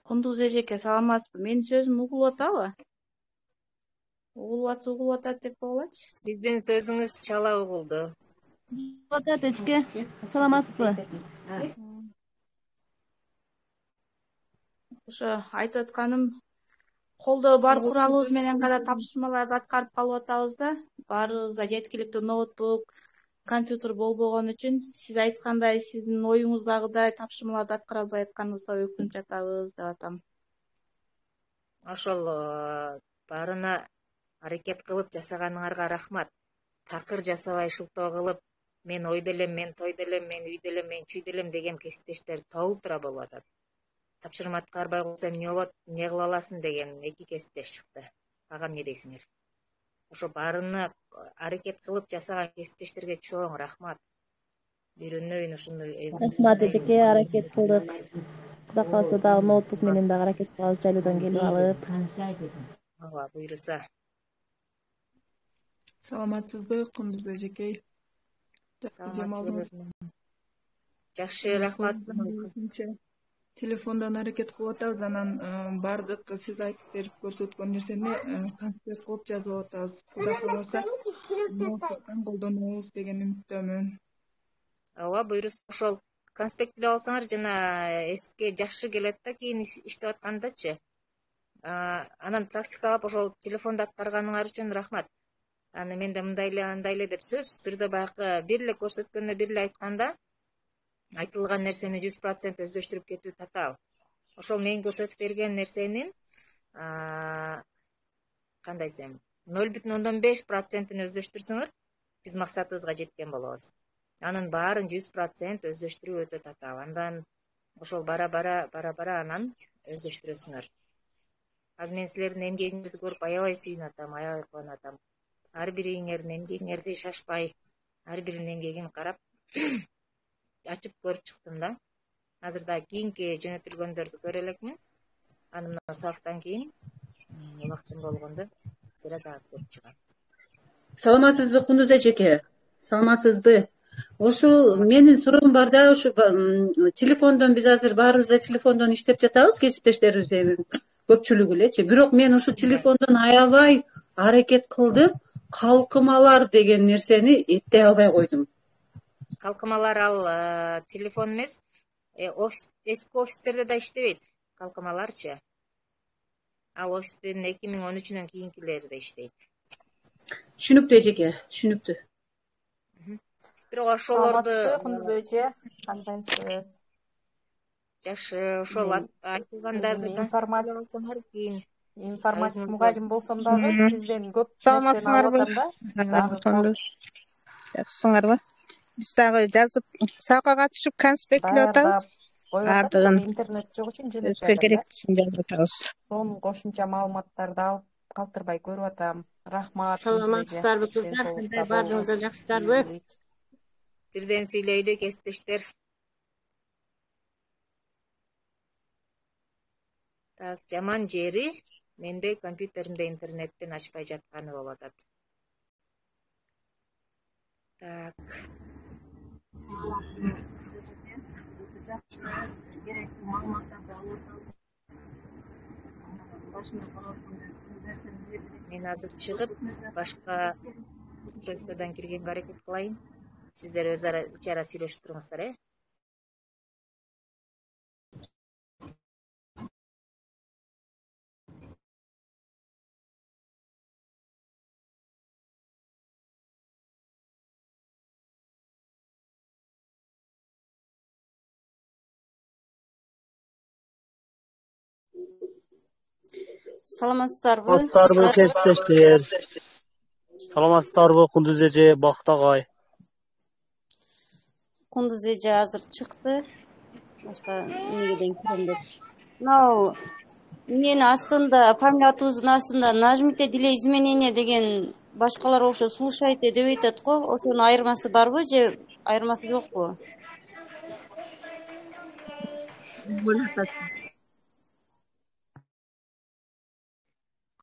Кундуз эжеке, саламатсызбы? Менин сөзүм угулуп атабы? Угулуп атат деп койгулачы. Сиздин сөзүңүз чала угулду. Атат эчке, саламатсызбы? Ошо айтып атканым, колдо бар куралыбыз менен гана тапшырмаларды аткарып калып атабыз да. Баарыбызда жеткиликтүү ноутбук, компьютер болбогон үчүн сиз айткандай, сиздин оюңуздагыдай тапшырмаларды аткара албай атканыбызга өкүнүп жатабыз деп атам. Ошол баарына аракет кылып жасаганыңарга рахмат. Такыр жасабай шылтоо кылып, мен ойдо элем, мен тойдо элем, мен үйдө элем, мен чүйдө элем деген кесиптештер толтура болуп атат. Тапшырма аткарбай койсом эмне болот, эмне кыла аласың деген 2 кесиптеш чыкты. Ага эмне дейсиңер? Ошо баарына аракет кылып жасаган кесиптештерге чоң рахмат. Үйрөнөйүн ушуну. Рахмат эжеке, аракет кылдык. Кудай кааласа дагы ноутбук менен дагы аракет кылабыз жайлуудан келип алып. Ага, буйруса. Саламатсызбы, Кундуз эжекей? Жакшы, рахмат. Телефондон аракет кылып атабыз, анан баардык сиз айтып берип көрсөткөн нерсени конспект кылып жазып атабыз. Кудай кааласа, ноутбуктан колдонобуз деген үмүттөмүн. Ооба, буйруса. Ошол конспект илип алсаңар жана эске жакшы келет да, кийин иштеп аткандачы. Анан практикалап ошол телефондо аткарганыңар үчүн рахмат. Аны мен да мындай эле, андай эле деп сөзсүз түрдө баягы бир эле көрсөткөндө, бир эле айтканда айтылган нерсени 100% өздөштүрүп кетүү татаал. Ошол мен көрсөтүп берген нерсенин кандай десем, 0,5%-ин өздөштүрсөңөр, биз максатыбызга жеткен болобуз. Анын баарын 100% өздөштүрүү өтө татаал. Андан ошол бара анан өздөштүрөсүңөр. Азыр мен силердин эмгегиңерди көрүп аябай сүйүнүп атам, аябай кубанып атам. Ар бириңердин эмгегиңерди шашпай, ар биринин эмгегин карап ачып көрүп чыктым да. Азыр да кийинки жөнөтүлгөндөрдү көрө элекмин. Аны мына сабактан кийин убактым болгондо силер дагы көрүп чыгам. Саламатсызбы, Кундуз эжеке? Саламатсызбы? Ошол менин суроом бар да, ушу телефондон биз азыр баарыбыз да телефондон иштеп жатабыз, кесиптештерибиз көпчүлүгү элечи. Бирок мен ушу телефондон аябай аракет кылдым, калкымалар деген нерсени эптей албай койдум. Калкымалар ал телефон эмес, эски офистерде да иштебейт калкымаларчы. Ал офистин 2013-нөн кийинкилери да иштейт. Түшүнүктүү эжеке, түшүнүктүү. Бирок ошолорду Кундуз эже, кандайсыз? жакшы, ошол айтылгандарды информатик мугалим болсом дагы сизден көп нерсени алып атам да. Жакшысыңарбы? Биз дагы жазып, сабакка катышып конспект илип атабыз. Баардыгын интернет жок үчүн жөнөтүп өзгө атам. керектисин жазып атабыз. Сонун кошумча маалыматтарды алып калтырбай көрүп атам. Рахмат. Саламатсыздарбы кыздар? Баардыгыңыз да жакшысыздарбы? Бирден сүйлөйлү кесиптештер. Так, жаман жери менде компьютеримде интернеттен ачпай жатканы болуп атат. Так. Керектүү маалыматтарды алып атабыз. Мен азыр чыгып, башка устройстводон киргенге аракет кылайын. Сиздер өз ара ичара сүйлөшүп туруңуздар, Саламатсыздарбы? Саламатсыздарбы, кесиптештер? Саламатсыздарбы, Кундуз эже, Бакыт агай? Кундуз эже азыр чыкты. Башка эмнеден кирем деп. Мынау менин астында, фамилия атыбыздын астында нажмите для изменения деген башкалар ошо слушайте деп айтат го. Ошонун айырмасы барбы же айырмасы жокпу?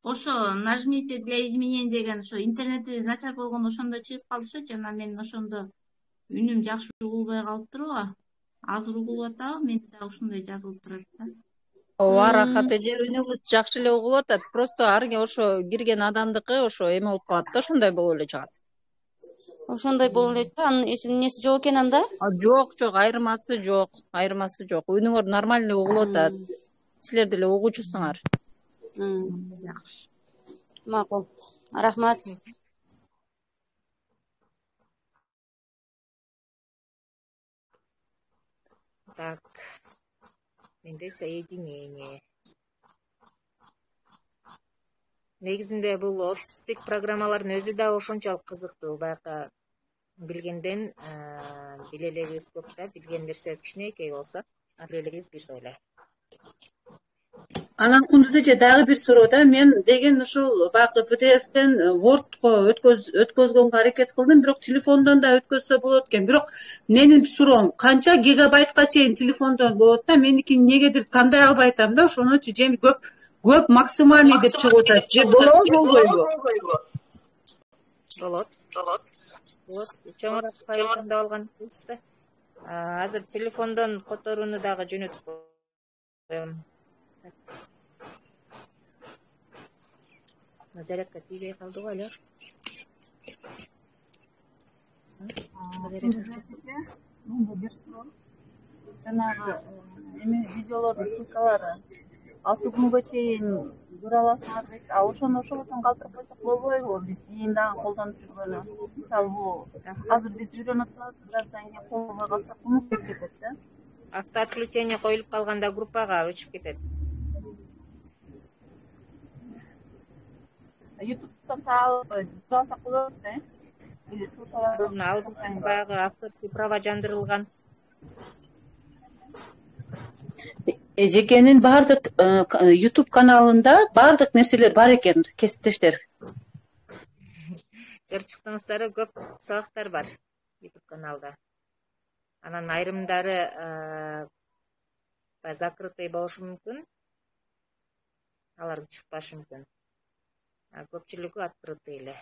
Ошо нажмите для изменений деген ошо интернетибиз начар болгондо ошондо чыгып калышы, жана мен ошондо үнүм жакшы угулбай калыптыр го. Азыр угулуп атабы, мен дагы ушундай жазылып турат да. ооба рахат эже үнүңүз жакшы эле угулуп атат. Просто арги ошо кирген адамдыкы ошо эме болуп калат да, ошондой болуп эле чыгат. Ошондой болуп эле анын эмнеси жок экен анда? Жок, айырмасы жок, Үнүңөр нормальный угулуп атат. Силер деле угуучусуңар. Жакшы. Макул. Рахмат. Так. Менде соединение. Негизинде бул офистик программалардын өзү да ошончолук кызыктуу. Байка билгенден биле элегибиз көп да, билген нерсебиз кичинекей болсо, биле элегибиз бир эле. Анан Кундуз эже дагы бир суроо да. Мен деген ушул баягы PDF-тен Word'ко өткөзгөнгө аракет кылдым, бирок телефондон да өткөзсө болот экен. Бирок менин суроом канча гигабайтка чейин телефондон болот да? Меники негедир тандай албай атам да, ошонучу жеми көп максимальный деп чыгып атат. Же болобу, болбойбу? Болот. Чоңураак файл тандап алганбыз да. Азыр телефондон которууну дагы жөнөтүп коем. Зарядка тийбей калды го эле. Бир суроо. Жанагы эме видеолордун ссылкалары 6 күнгө чейин көрө аласыңар дейт. Ошону ошондон калтырып койсок болбойбу? Биз кийин дагы колдонуп жүргөнү. Мисалы бул азыр биз үйрөнүп атабыз, бираздан кийин колдонбой калсак унутуп кетет да. Автоотключение коюлуп калганда группага өчүп кетет. YouTube'dan tabi alsak bolot da. Или ссылкаларды алып баягы авторский права жандырылган. Эжекенин бардык YouTube каналында бардык нерселер бар экен, кесиптештер. Көрүп чыктыңыздар, көп сабактар бар YouTube каналда. Анан айрымдары закрытый болушу мүмкүн. Алар чыкпашы мүмкүн. Көпчүлүгү открытый эле.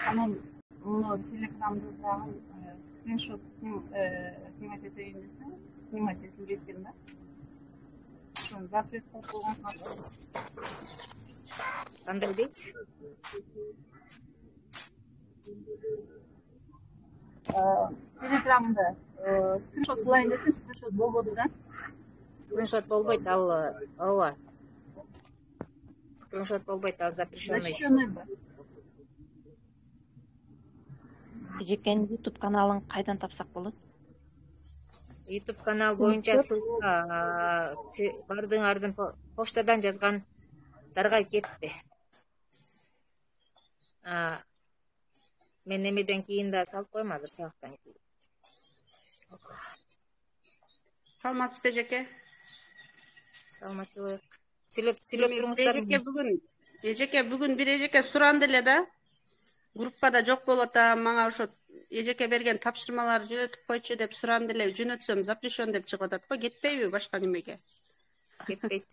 Анан муну телеграмды дагы скриншот снимать этейин десең, снимать этилип кеткен да. Ошону запрет кылып койгонсуңар. Кандай дейсиз? Телеграмда скриншот кылайын десем, скриншот болбоду да. Скриншот болбойт, ал ооба. Скриншот болбойт, ал запрещенный. Эжекенин YouTube каналын кайдан тапсак болот? YouTube канал боюнча ссылка бардыңардын почтадан жазгандарга кетти. Мен эмеден кийин да салып коем, азыр сабактан кийин. Саламатсызбы эжеке? Саламатчылык. Сүйлөп туруңуздар. Эжеке бүгүн бир эжеке суранды эле да. Группада жок болуп атам, мага ошо эжеке берген тапшырмаларды жөнөтүп койчу деп суранды эле. Жөнөтсөм запрещен деп чыгып атат го, кетпейби башка немеге? Кетпейт.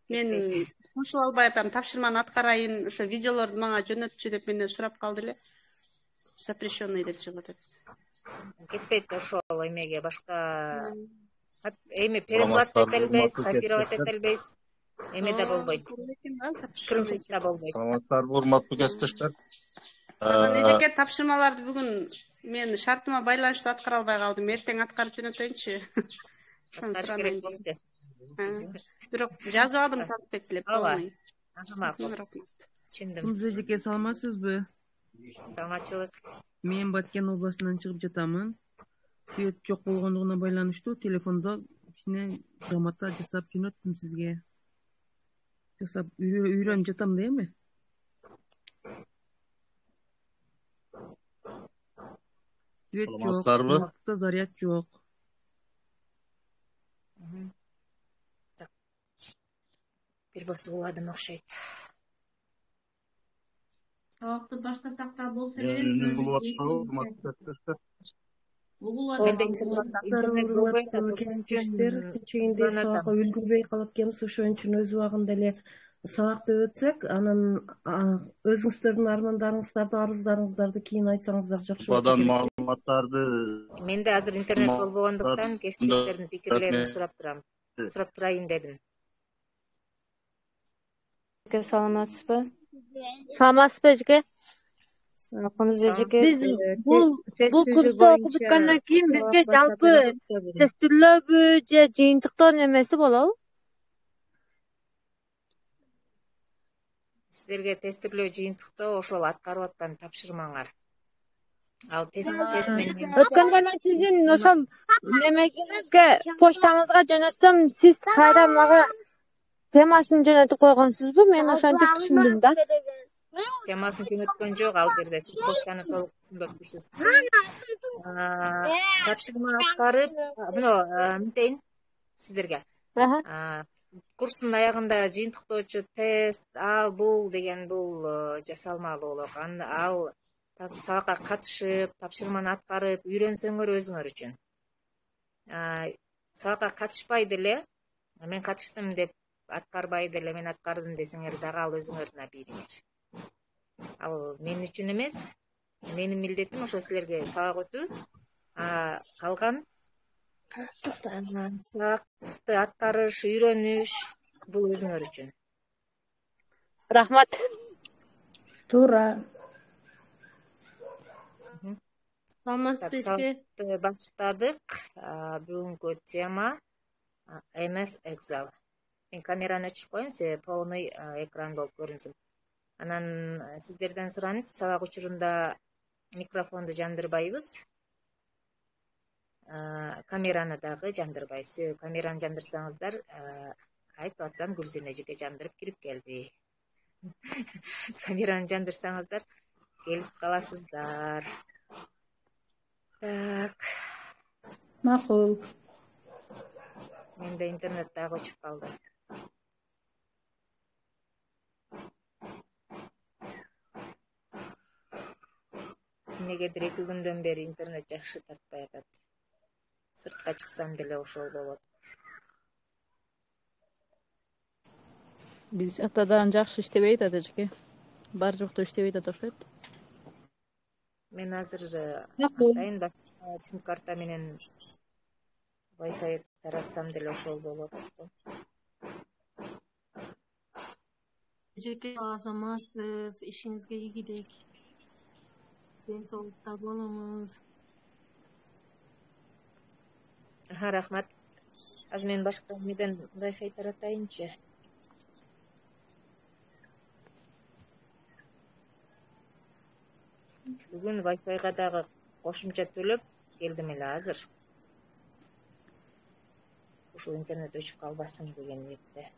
Мен кошула албай атам, тапшырманы аткарайын, ошо видеолорду мага жөнөтчү деп менден сурап калды эле. Запрещенный деп чыгып атат. Кетпейт ошол эмеге, башка эми переслать эте албайбыз, копировать эте албайбыз. Эме да болбойт. Скриншот да болбойт. Саламаттарбы, урматтуу кесиптештер. Эжеке тапшырмаларды бүгүн мен шартыма байланыштуу аткара албай калдым. Эртең аткарып жөнөтөйүнчү. Бирок жазып алдым конспект эле. Ооба. Түшүндүм. Кундуз эжеке, саламатсызбы? Саламатчылык. Мен Баткен областынан чыгып жатамын. Свет жок болгондугуна байланыштуу телефондо кичине грамота жасап жөнөттүм сизге. Жасап үйрөнүп жатам да эми. Свет жок, заряд жок. Бир басып уладым окшойт. Сабакты баштасак да болсо эле. Кечээндей сабакка үлгүрбөй калып келебиз, ошон үчүн өз убагында эле сабакты өтсөк, анан өзүңүздөрдүн армандарыңыздарды, арыздарыңыздарды кийин айтсаңыздар жакшы болот. Бадан маалыматтарды Мен да азыр интернет болбогондуктан кесиптештердин пикирлерин сурап турайын дедим. Саламатсызбы? Саламатсызбы эжеке? Кундуз эжеке, Биз бул курсту окуп бүткөндөн кийин бизге жалпы тестирлөөбү же жыйынтыктоо немеси болобу? Сиздерге тестирлөө жыйынтыктоо ошол аткарып аткан тапшырмаңар. Ал тест менен Өткөндө мен сиздин ошол немеңизге почтаңызга жөнөтсөм, сиз кайра мага темасын жөнөтүп койгонсузбу? Мен ошентип түшүндүм да. Темасын жөнөткөн жок ал жерде. Сиз почтаны толук түшүнбөпсүз. Тапшырма аткарып, мынтейин сиздерге. Курстун аягында жыйынтыктоочу тест, ал бул деген бул жасалмалуу болот. Ал сабакка катышып, тапшырманы аткарып, үйрөнсөңөр өзүңөр үчүн. Сабакка катышпай деле, мен катыштым деп аткарбай деле мен аткардым десеңер дагы ал өзүңөрдүн абийириңер. Ал мен үчүн эмес, менин милдетим ошо силерге сабак өтүү. Калган сабакты аткарыш, үйрөнүш бул өзүңөр үчүн. Рахмат. Туура. Саламатсызбы эжеке? Баштадык. Бүгүнкү тема MS Excel. Мен камераны өчүрүп коеюн, себеби полный экран болуп көрүнсүн. Анан сиздерден суранып, сабак учурунда микрофонду жандырбайбыз. Камераны дагы жандырбайбыз. Камераны жандырсаңыздар, айтып атсам Гүлсен эжеке жандырып кирип келди. Камераны жандырсаңыздар, келип каласыздар. Так. Макул. Менде интернет дагы өчүп калды. Эмнегедир 2 күндөн бери интернет жакшы тартпай атат. Сыртка чыксам деле ошол болот. Биз атадан жакшы иштебей атат эжеке. Бар жокто иштебей атат окшойт. Мен азыр атайын сим карта менен Wi-Fi таратсам деле ошол болот. Эжеке азаматсыз, ишиңизге ийгилик. Ден соолукта болуңуз. Рахмат. Азыр мен башка эмеден Wi-Fi таратайынчы. Бүгүн Wi-Fi'га дагы кошумча төлөп келдим эле азыр. Ушул интернет өчүп калбасын деген ниетте.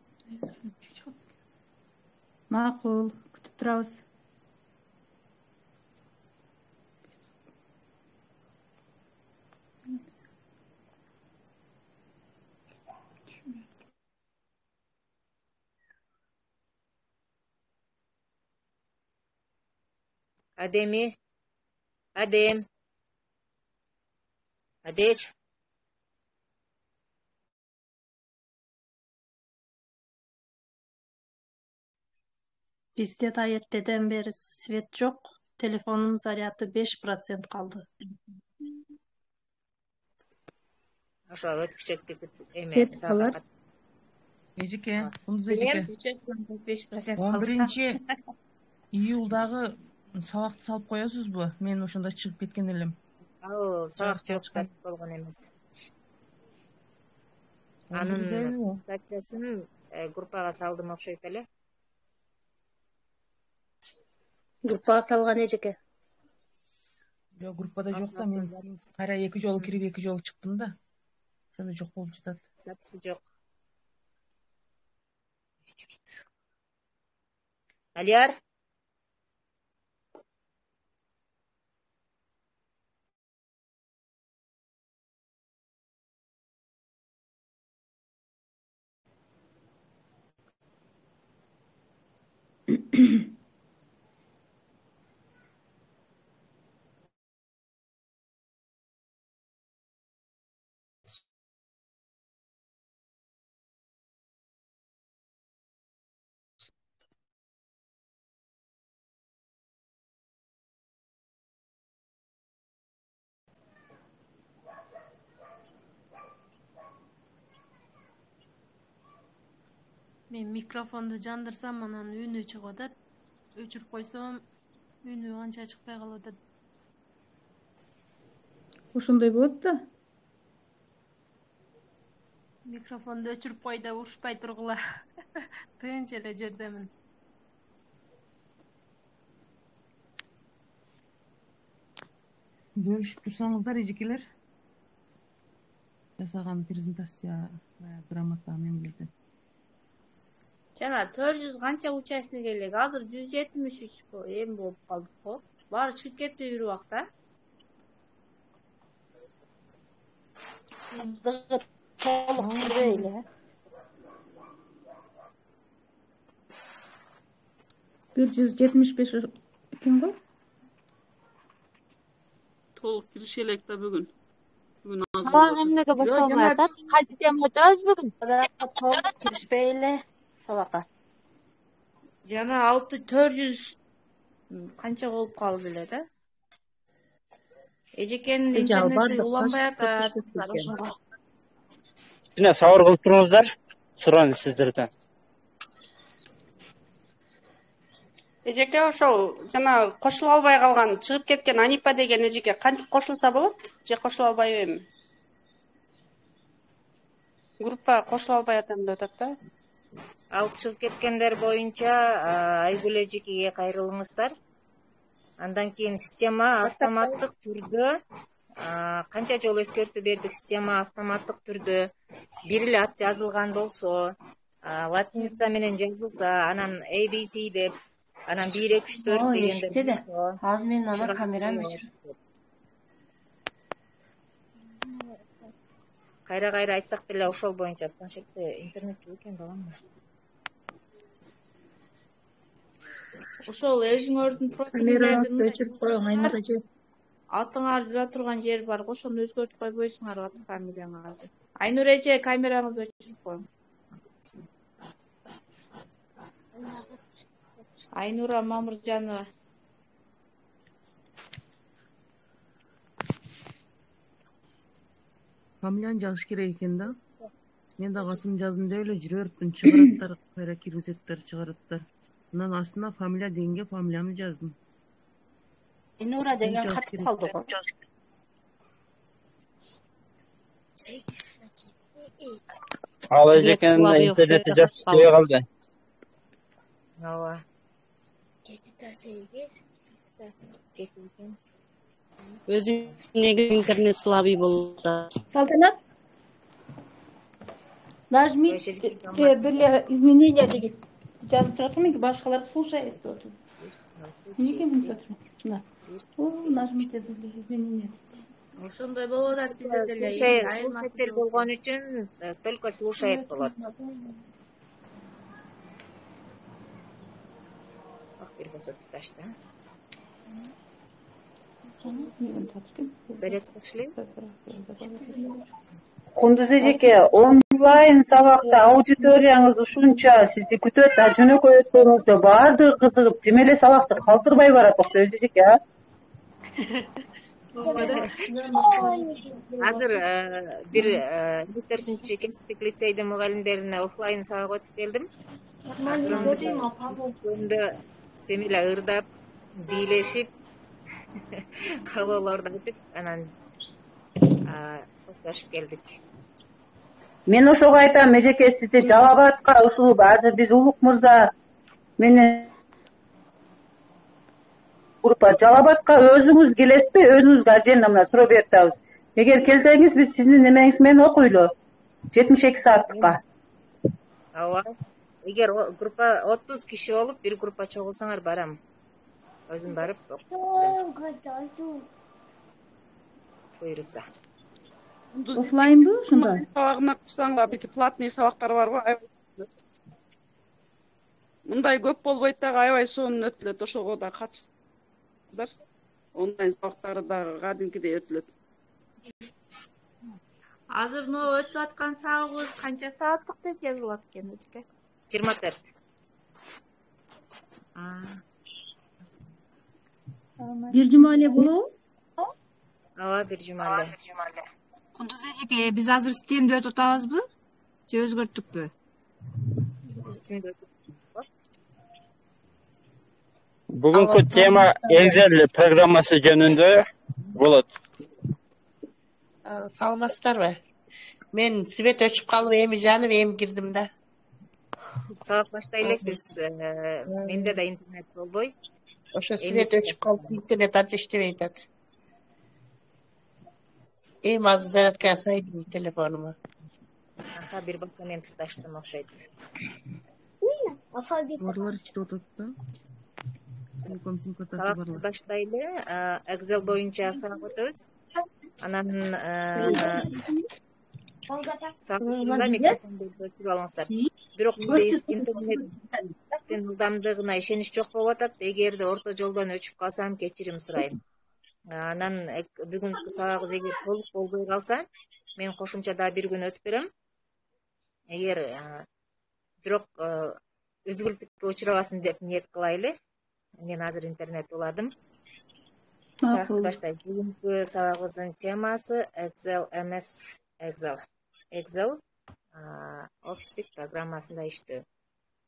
Макул, күтүп турабыз. Адеми. Адем. Адеш. Бизде да эртеден бери свет жок. Телефонун заряды 5% калды. Ошо өткүчөктүк эме Кетип калар. Эжеке, Кундуз эжеке. 11 июлдагы сабакты салып коесузбу? Мен ошондо чыгып кеткен элем. Ал сабак жок, сатып болгон эмес. Анын статьясын группага салдым окшойт эле. Группага салган эжеке. Жок, группада жок да, мен кайра 2 жолу кирип 2 жолу чыктым да. Ошондо жок болуп жатат. Записи жок. Алияр. Мен микрофонду жандырсам анан үнү чыгып атат. Өчүрүп койсом үнү анча чыкпай калып атат. Ошондой болот да. Микрофонду өчүрүп кой да ушпай тургула. Тынч эле жердемин. Бөлүшүп турсаңыздар эжекелер. Жасаган презентация грамота мемелерден. Жана 400 канча участник элек? Азыр 173 эми болуп калдык го. Баары чыгып кетти бир убакта. Толук кирбей эле. 175 экен го. Толук кириши элек да бүгүн. Бүгүн Сабак эмнеге башталмай атат? Кайсы тема өтөбүз бүгүн? Толук киришпей эле сабакка. Жана 400 канча болуп калды эле да. Эжекенин интернети уланбай атат. Жана сабыр кылып туруңуздар. Суран сиздерден. Эжеке ошол жана кошула албай калган чыгып кеткен Анипа деген эжеке кантип кошулса болот? Же кошула албайбы эми? Группа кошула албай атам деп атат да. Ал чыгып кеткендер боюнча Айгүл эжекеге кайрылыңыздар. Андан кийин система автоматтык түрдө канча жолу эскертүү бердик, система автоматтык түрдө бир эле ат жазылган болсо, латиница менен жазылса, анан ABC деп, анан 1 2 3 4 дегенде Азыр менин ана камерам өчүр. Кайра айтсак деле ошол боюнча планшетте интернет жок экен балам. Ошол өзүңөрдүн профилиңерди өчүрүп коюң, Айнур эже. Атыңар жаза турган жер бар го, ошону өзгөртүп койбойсуңар ат фамилияңарды. Айнур эже, камераңызды өчүрүп коюң. Айнура Мамыржанова. Фамилияны жазыш керек экен да. Мен да атымды жаздым деп эле жүрөөрмүн, чыгараттар, кайра киргизеттер, чыгараттар. Анан астына фамилия дегенге фамилиямды жаздым. Айнура деген катып калды го. Ал эжекенин интернети жакшырбай калды. Ооба. 7-8 экен. Өзүнүн интернет слабый болуп атат. Салтанат. Нажми бир изменения деген жазып жатырмын, башкалар слушает деп отур. Эмнеге мынтип отурмун? Мына. Нажмите бир изменения. Ошондой болуп атат бизде деле. Слушатель болгон үчүн только слушает болот. Бир болсо туташ да. Зарядка иштейби? Кундуз эжеке, онлайн сабакта аудиторияңыз ушунча сизди күтөт, жөнөкөй өткөнүңүздө баардыгы кызыгып, тим эле сабакты калтырбай барат окшойбуз эжеке, а? Азыр бир 4-чү кесиптик лицейдин мугалимдерине офлайн сабак өтүп келдим. Өндө сем эле ырдап, бийлешип, каалоолорду айтып, анан коштошуп келдик. Мен ошого айтам, эжеке, сизди Жалал Абадка ушул азыр биз Улук мырза менен группа Жалал Абадка өзүңүз келесизби? Өзүңүзгө отдельно мына суроо берип атабыз. Эгер келсеңиз, биз сиздин немеңиз менен окуйлу. 72 сааттыкка. Ооба. Эгер группа 30 киши болуп, бир группа чогулсаңар барам. Өзүм барып буйруса. Офлайнбы ушунда? Сабагына кылсаңар, бити платный сабактар барбы? Мындай көп болбойт дагы, аябай сонун өтүлөт, ошого да катышсаңар. Онлайн сабактары дагы кадимкидей өтүлөт. Азыр өтүп аткан сабагыбыз канча сааттык деп жазылат экен эжеке? 24. Бир жума эле болобу? Ооба, бир жума эле. Кундуз эжеке, биз азыр системди өтүп атабызбы? Же өзгөрттүкпү? Бүгүнкү тема Excel программасы жөнүндө болот. Саламатсыздарбы? Мен свет өчүп калып, эми жанып, эми кирдим да. Сабак баштай элек биз. Менде да интернет болбой. Ошо свет өчүп калып, интернет анча иштебей атат. Эми азыр зарядкага сайдым телефонума. Бир бакта мен туташтым окшойт. Барлар иштеп атат да. Телеком сим картасы Сабак барлар. баштайлы, Excel боюнча сабак өтөбүз. Анан сабагыбызда микрофонду өчүрүп алыңыздар. Бирок биз интернеттин ылдамдыгына ишенич жок болуп атат. Эгерде орто жолдон өчүп калсам, кечирим сурайм. Анан бүгүнкү сабагыбыз эгер толук болбой калса, мен кошумча дагы бир күн өтүп берем. Эгер бирок үзгүлтүккө учурабасын деп ниет кылайлы. Мен азыр интернет уладым. Сабакты баштайт. Бүгүнкү сабагыбыздын темасы Excel эмес, Excel офистик программасында иштөө.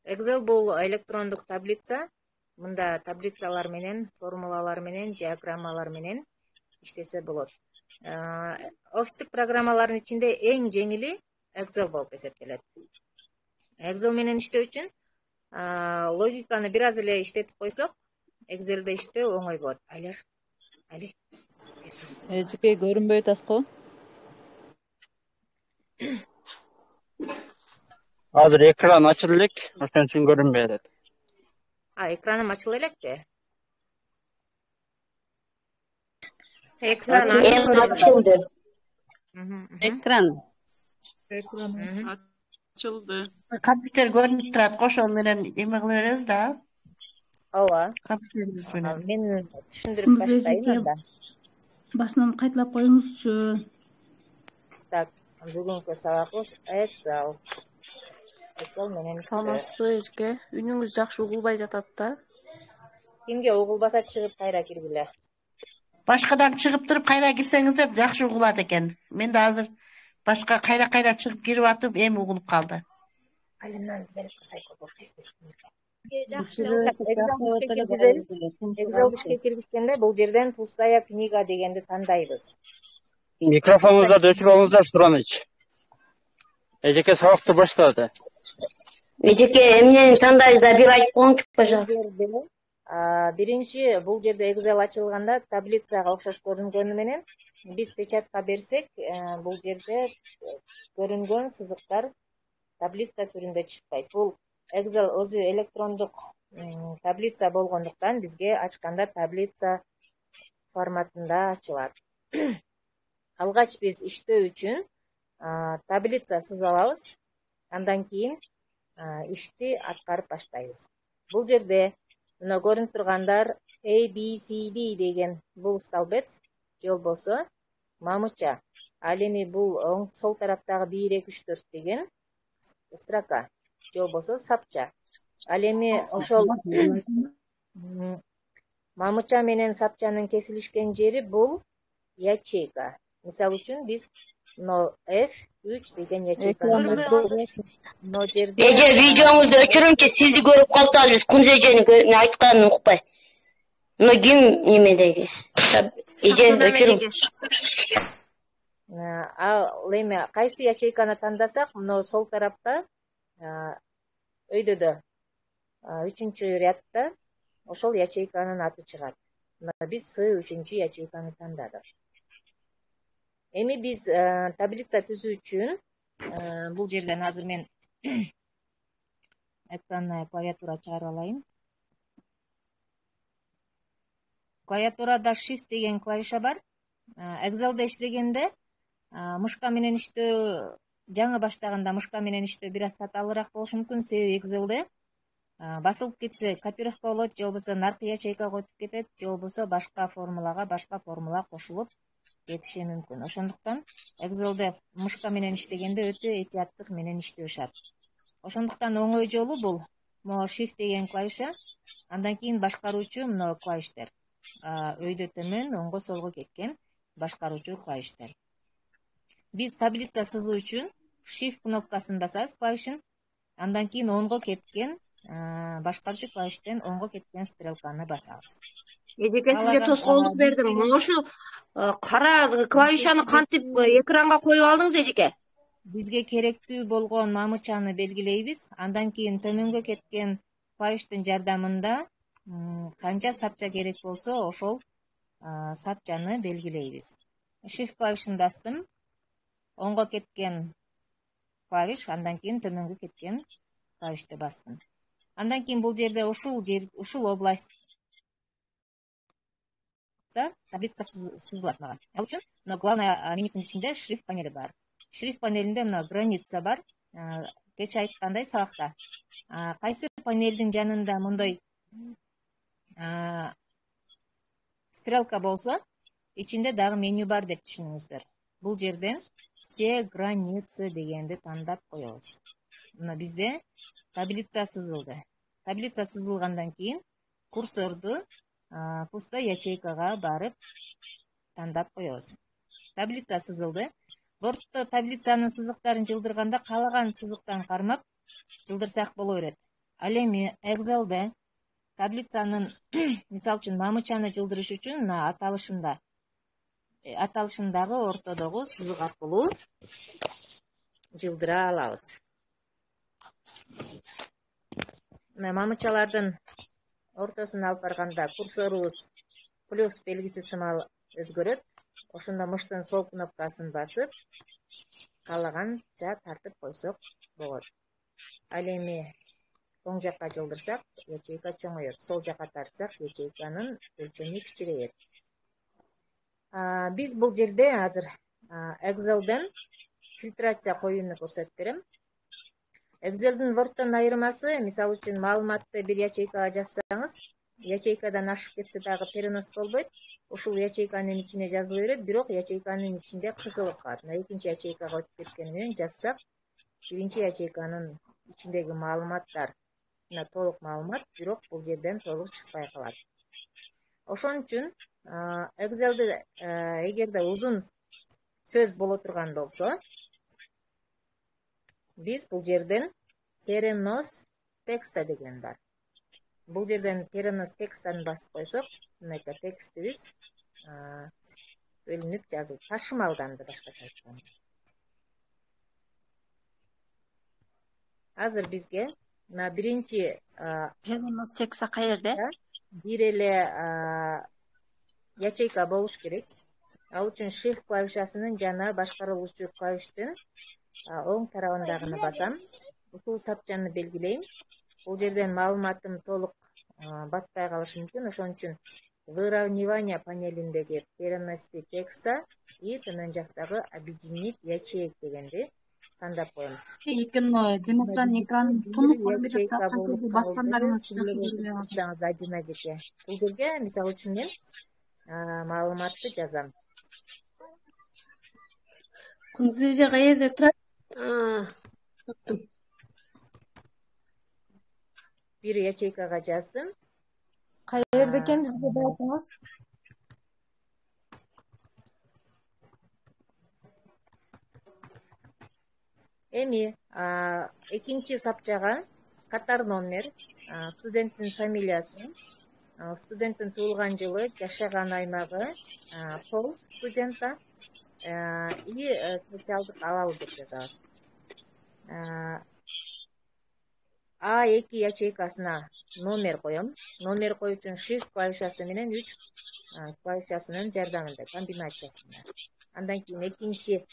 Excel бул электрондук таблица. Мында таблицалар менен, формулалар менен, диаграммалар менен иштесе болот. Офистик программалардын ичинде эң жеңили Excel болуп эсептелет. Excel менен иштөө үчүн логиканы бир аз эле иштетип койсок, Excel'де иштөө оңой болот. Эжеке көрүнбөй атасызго? Азыр экран ачылып элек, ошон үчүн көрүнбөй атат. Экраным ачыла элекпи? Экран ачылды. Компьютер көрүнүп турат, ошол менен эме кыла беребиз да. Ооба. Компьютерибиз менен. Мен түшүндүрүп баштайын анда. Башынан кайталап коюңузчу. Так, бүгүнкү сабагыбыз Excel менен. Саламатсызбы эжеке? Үнүңүз жакшы угулбай жатат да. Кимге угулбаса чыгып кайра киргиле. Башкадан чыгып туруп кайра кирсеңиздер жакшы угулат экен. Мен да азыр башка кайра чыгып кирип атып, эми угулуп калды. Алимнан зарядка сайкы болуп тез. Excel ишке киргизгенде бул жерден пустая книга дегенди тандайбыз. Микрофонуңуздарды өчүрүп алыңыздар, Сураныч. Эжеке сабакты баштады. Эжеке, эмнени тандайбыз, бир айтып коюңчу, пожалуйста. Биринчи бул жерде Excel ачылганда таблицага окшош көрүнгөнү менен биз печатка берсек, бул жерде көрүнгөн сызыктар таблица түрүндө чыкпайт. Бул Excel өзү электрондук таблица болгондуктан бизге ачканда таблица форматында ачылат. Алгач биз иштөө үчүн таблица сызып алабыз. Андан кийин ишти аткарып баштайбыз. Бул жерде мына көрүнүп тургандар A, B, C, D деген бул столбец, же болбосо мамыча. Ал эми бул сол тараптагы 1, 2, 3, 4 деген строка, же болбосо сапча. Ал эми ошол мамыча менен сапчанын кесилишкен жери бул ячейка. Мисалы үчүн биз F3 деген ячейканы Эже, видеоңузду өчүрүңчү, сизди көрүп калдык, биз Кунз эженин айтканын укпай. Мына ким немедеги? Эже, өчүрүң. Ал эми кайсы ячейканы тандасак, мына сол тарапта өйдөдө 3-чү рядта ошол ячейканын аты чыгат. Мына биз С3 ячейканы тандадык. Эми биз таблица түзүү үчүн бул жерден азыр мен экранына клавиатура чыгарып алайын. Клавиатурада Shift деген клавиша бар. Excel'де иштегенде мышка менен иштөө, жаңы баштаганда мышка менен иштөө бир аз татаалыраак болушу мүмкүн. Себеби Excel'де басылып кетсе копировка болот, же болбосо наркы ячейкага өтүп кетет, же болбосо башка формула кошулуп кетиши мүмкүн. Ошондуктан Excel'де мышка менен иштегенде өтө этияттык менен иштөө шарт. Ошондуктан оңой жолу бул могу Shift деген клавиша, андан кийин башкаруучу мына клавиштер. Өйдө төмөн, оңго солго кеткен башкаруучу клавиштер. Биз таблица сызуу үчүн Shift кнопкасын басабыз, клавишин. Андан кийин онго кеткен башкарчу клавиштен онго кеткен стрелканы басабыз. Эжеке, сизге тоскоолдук бердим. Мына ушул кара клавишаны кантип экранга коюп алдыңыз, эжеке? Бизге керектүү болгон мамычаны белгилейбиз. Андан кийин төмөнгө кеткен клавиштин жардамында канча сапча керек болсо ошол сапчаны белгилейбиз. Shift клавишин бастым. Оңго кеткен клавиш, андан кийин төмөнгө кеткен клавишти бастым. Андан кийин бул жерде ушул областта таблица сызылат мага. Ал үчүн мына главная менюсунун ичинде шрифт панели бар. Шрифт панелинде мына граница бар. Кечээ айткандай сабакта кайсы панелдин жанында мындай стрелка болсо, ичинде дагы меню бар деп түшүнүңүздөр. Бул жерден все границы дегенди тандап коебуз. Мына бизде таблица сызылды. Таблица сызылгандан кийин курсорду пустой ячейкага барып тандап коебуз. Таблица сызылды. Word'то таблицанын сызыктарын жылдырганда каалаган сызыктан кармап жылдырсак боло берет. Ал эми Excel'де таблицанын мисалы үчүн мамычаны жылдырыш үчүн аталышындагы ортодогу сызык аркылуу жылдыра алабыз. Мына мамычалардын ортосуна алып барганда курсорубуз плюс белгиси сымал өзгөрөт. Ошондо мыштын сол кнопкасын басып, каалаганча тартып койсок болот. Ал эми оң жакка жылдырсак, ячейка чоңойот. Сол жакка тартсак, ячейканын өлчөмү кичирейет. Биз бул жерде азыр Excel'ден фильтрация коюуну көрсөтүп берем. Excel'дин Word'тон айырмасы, мисалы үчүн маалыматты бир ячейкага жазсаңыз, ячейкадан ашып кетсе дагы перенос болбойт. Ушул ячейканын ичине жазыла берет, бирок ячейканын ичинде кысылып калат. Мына экинчи ячейкага өтүп кеткени менен жазсак, биринчи ячейканын ичиндеги маалыматтар мына толук маалымат, бирок бул жерден толук чыкпай калат. Ошон үчүн Excel'де эгерде узун сөз боло турган болсо, биз бул жерден перенос текста деген бар. Бул жерден перенос текстаны басып койсок, мынакей текстибиз бөлүнүп жазылып, ташымалданды башкача айтканда. Азыр бизге мына биринчи перенос текста каерде? Бир эле ячейка болуш керек. Ал үчүн Shift клавишасынын жана башкарылуучу клавиштин оң тарабындагыны басам. Ушул сапчаны белгилейм. Бул жерден маалыматым толук батпай калышы мүмкүн. Ошон үчүн выравнивание панелиндеги перенести текста и төмөн жактагы объединить ячеек дегенди тандап коем. Демонстран экран тунук көрүнүп жатат. Кайсыбир баскандарыңыз жакшы көрүнөт. Адина жеке. Бул жерге мисалы үчүн мен маалыматты жазам. Кундуз эже каерде турат? Таптым. Бир ячейкага жаздым. Каерде экенинизди деп айтыңыз? Эми экинчи сапчага катар номер, студенттин фамилиясы, студенттин туулган жылы, жашаган аймагы, пол студента и социалдык абал деп жазабыз. А2 ячейкасына номер коем. Номер коюу үчүн Shift клавишасы менен 3 клавишасынын жардамында, комбинациясында. Андан кийин экинчи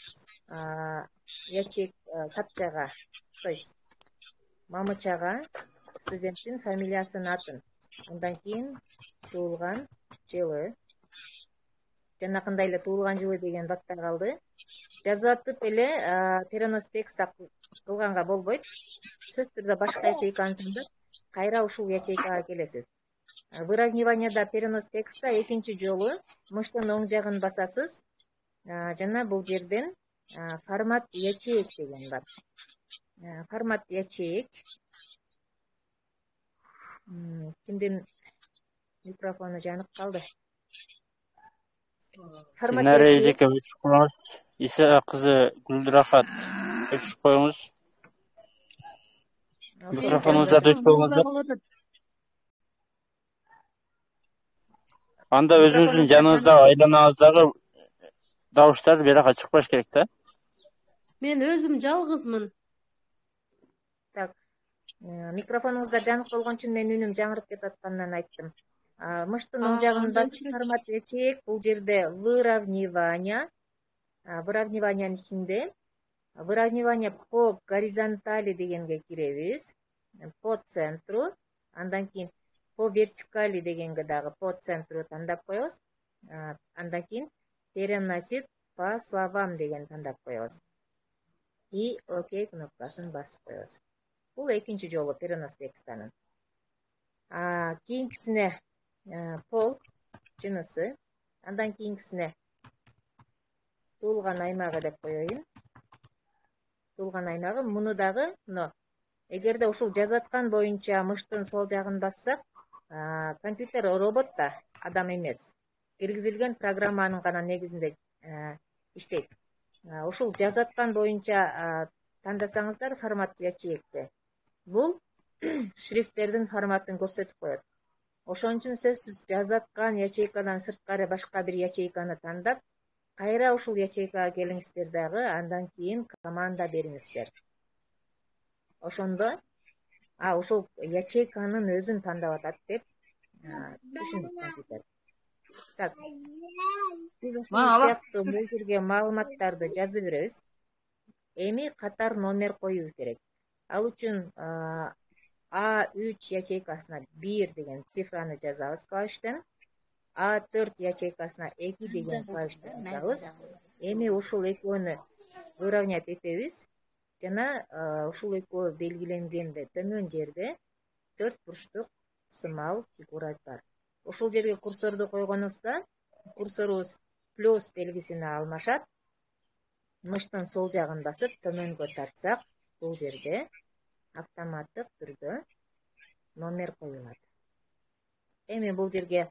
сапчага, то есть мамычага студенттин фамилиясын, атын, андан кийин туулган жылы, жанакындай эле туулган жылы деген батпай калды. Жазатып эле перенос текста кылганга болбойт. Сөзсүз түрдө башка ячейканы тандап, кайра ушул ячейкага келесиз. Выравниванияда перенос текста экинчи жолу мыштын оң жагын басасыз. Жана бул жерден формат ячеек деген бар. Формат ячеек. Кимдин микрофону жанып калды? Динара эжеке өчүп коюңуз. Иса кызы Гүлрахат өчүп коюңуз. Микрофонуңузду өчүрүңүз. Анда өзүңүздүн жаныңыздагы айланаңыздагы дауыштар бияка чыкпаш керек да. Мен өзүм жалгызмын. Так. Микрофонуңузда жанык болгон үчүн мен үнүм жаңырып кетип атканынан айттым. Мыштын оң жагын басып формат ячеек, бул жерде выравнивание. Выравниваниянын ичинде выравнивание по горизонтали дегенге киребиз. По центру, андан кийин по вертикали дегенге дагы по центру тандап коебуз. Андан кийин переносит по словам деген тандап коебуз. И окей кнопкасын басып коебуз. Бул экинчи жолу перенос текстанын. Кийинкисине пол жынысы, андан кийинкисине туулган аймагы деп коеюн. Туулган аймагы муну дагы, эгерде ушул жазып аткан боюнча мыштын сол жагын бассак, компьютер робот да, адам эмес. Киргизилген программанын гана негизинде иштейт. Ушул жазып аткан боюнча тандасаңыздар формат ячейкти. Бул шрифттердин форматын көрсөтүп коет. Ошон үчүн сөзсүз жазып аткан ячейкадан сырткары башка бир ячейканы тандап, кайра ушул ячейкага келиңиздер дагы, андан кийин команда бериңиздер. Ошондо ушул ячейканын өзүн тандап атат деп түшүнүп компьютер. Так. Сыяктуу бул жерге маалыматтарды жазып беребиз. Эми катар номер коюу керек. Ал үчүн A3 ячейкасына 1 деген цифраны жазабыз клавиштен. A4 ячейкасына 2 деген клавиштен жазабыз. Эми ушул экөөнү выравнять этебиз. Жана ушул экөө белгиленгенде төмөн жерде 4 бурчтук сымал фигура бар. Ушул жерге курсорду койгонубузда курсорубуз плюс белгисине алмашат. Мыштын сол жагын басып төмөнгө тартсак, бул жерде автоматтык түрдө номер коюлат. Эми бул жерге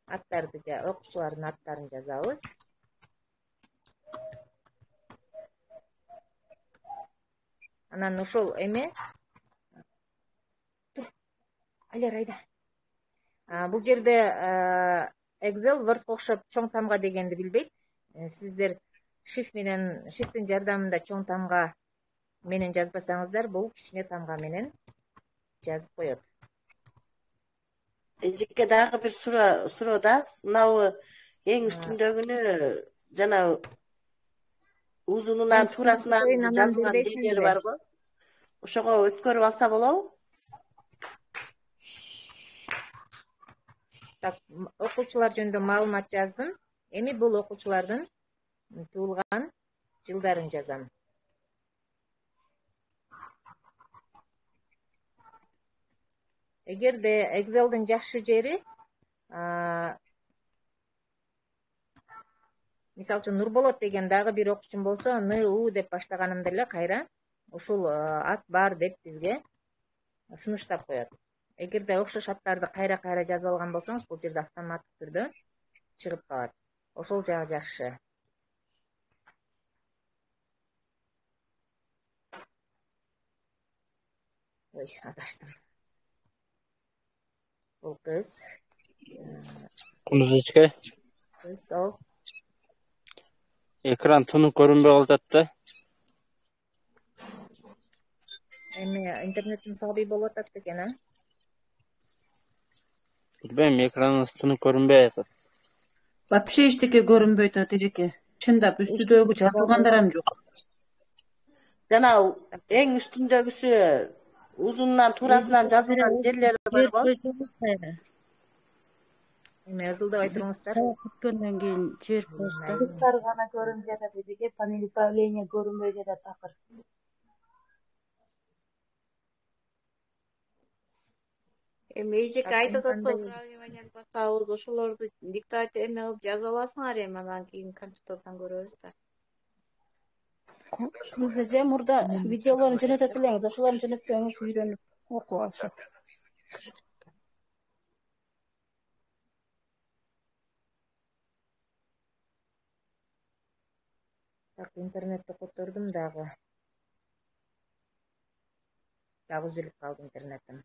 аттарды, окуучулардын аттарын жазабыз. Анан ошол эме Алер айда. Бул жерде Excel Word'га окшоп чоң тамга дегенди билбейт. Сиздер shift'тин жардамында чоң тамга менен жазбасаңыздар, бул кичине тамга менен жазып коет. Эжеке дагы бир суроо да. Мынабы эң үстүндөгүнү жана узунунан туурасынан жазылган жерлери барбы? Ошого өткөрүп алса болобу? Так, окуучулар жөнүндө маалымат жаздым. Эми бул окуучулардын туулган жылдарын жазам. Эгерде Excel'дин жакшы жери, мисалы үчүн Нурболот деген дагы бир окуучум болсо, НУ деп баштаганымда эле кайра ушул ат бар деп бизге сунуштап коет. Эгерде окшош аттарды кайра жазып алган болсоңуз, бул жерде автоматтык түрдө чыгып калат. Ошол жагы жакшы. Ой, адаштым. Бул кыз. Кундузечке. Кыз, ал. Экран тунук көрүнбөй калат да. Эми интернеттин сабый болуп атат экен, Билбейм, экраныңыз тунук көрүнбөй атат. Вообще эчтеке көрүнбөй атат эжеке. Чындап үстүдөгү жазылгандар ham жок. Жана эң үстүндөгүсү узунунан туурасынан жазылган жерлери барбы? Эми ызылдабай туруңуздар. Күткөндөн кийин жиберип коюңуздар. Кыздар гана көрүнүп жатат эжеке, панель управления көрүнбөй жатат акыр. Эми эжеке айтып атат го, управлениени басабыз, ошолорду диктовать эме кылып жаза аласыңар, эми анан кийин компьютерден көрөбүз да. Кыз эже мурда видеолорун жөнөтөт элеңиз, ошолорду жөнөтсөңүз үйрөнүп окуп алышат. Так, интернетти котордум дагы. дагы үзүлүп калды интернетим.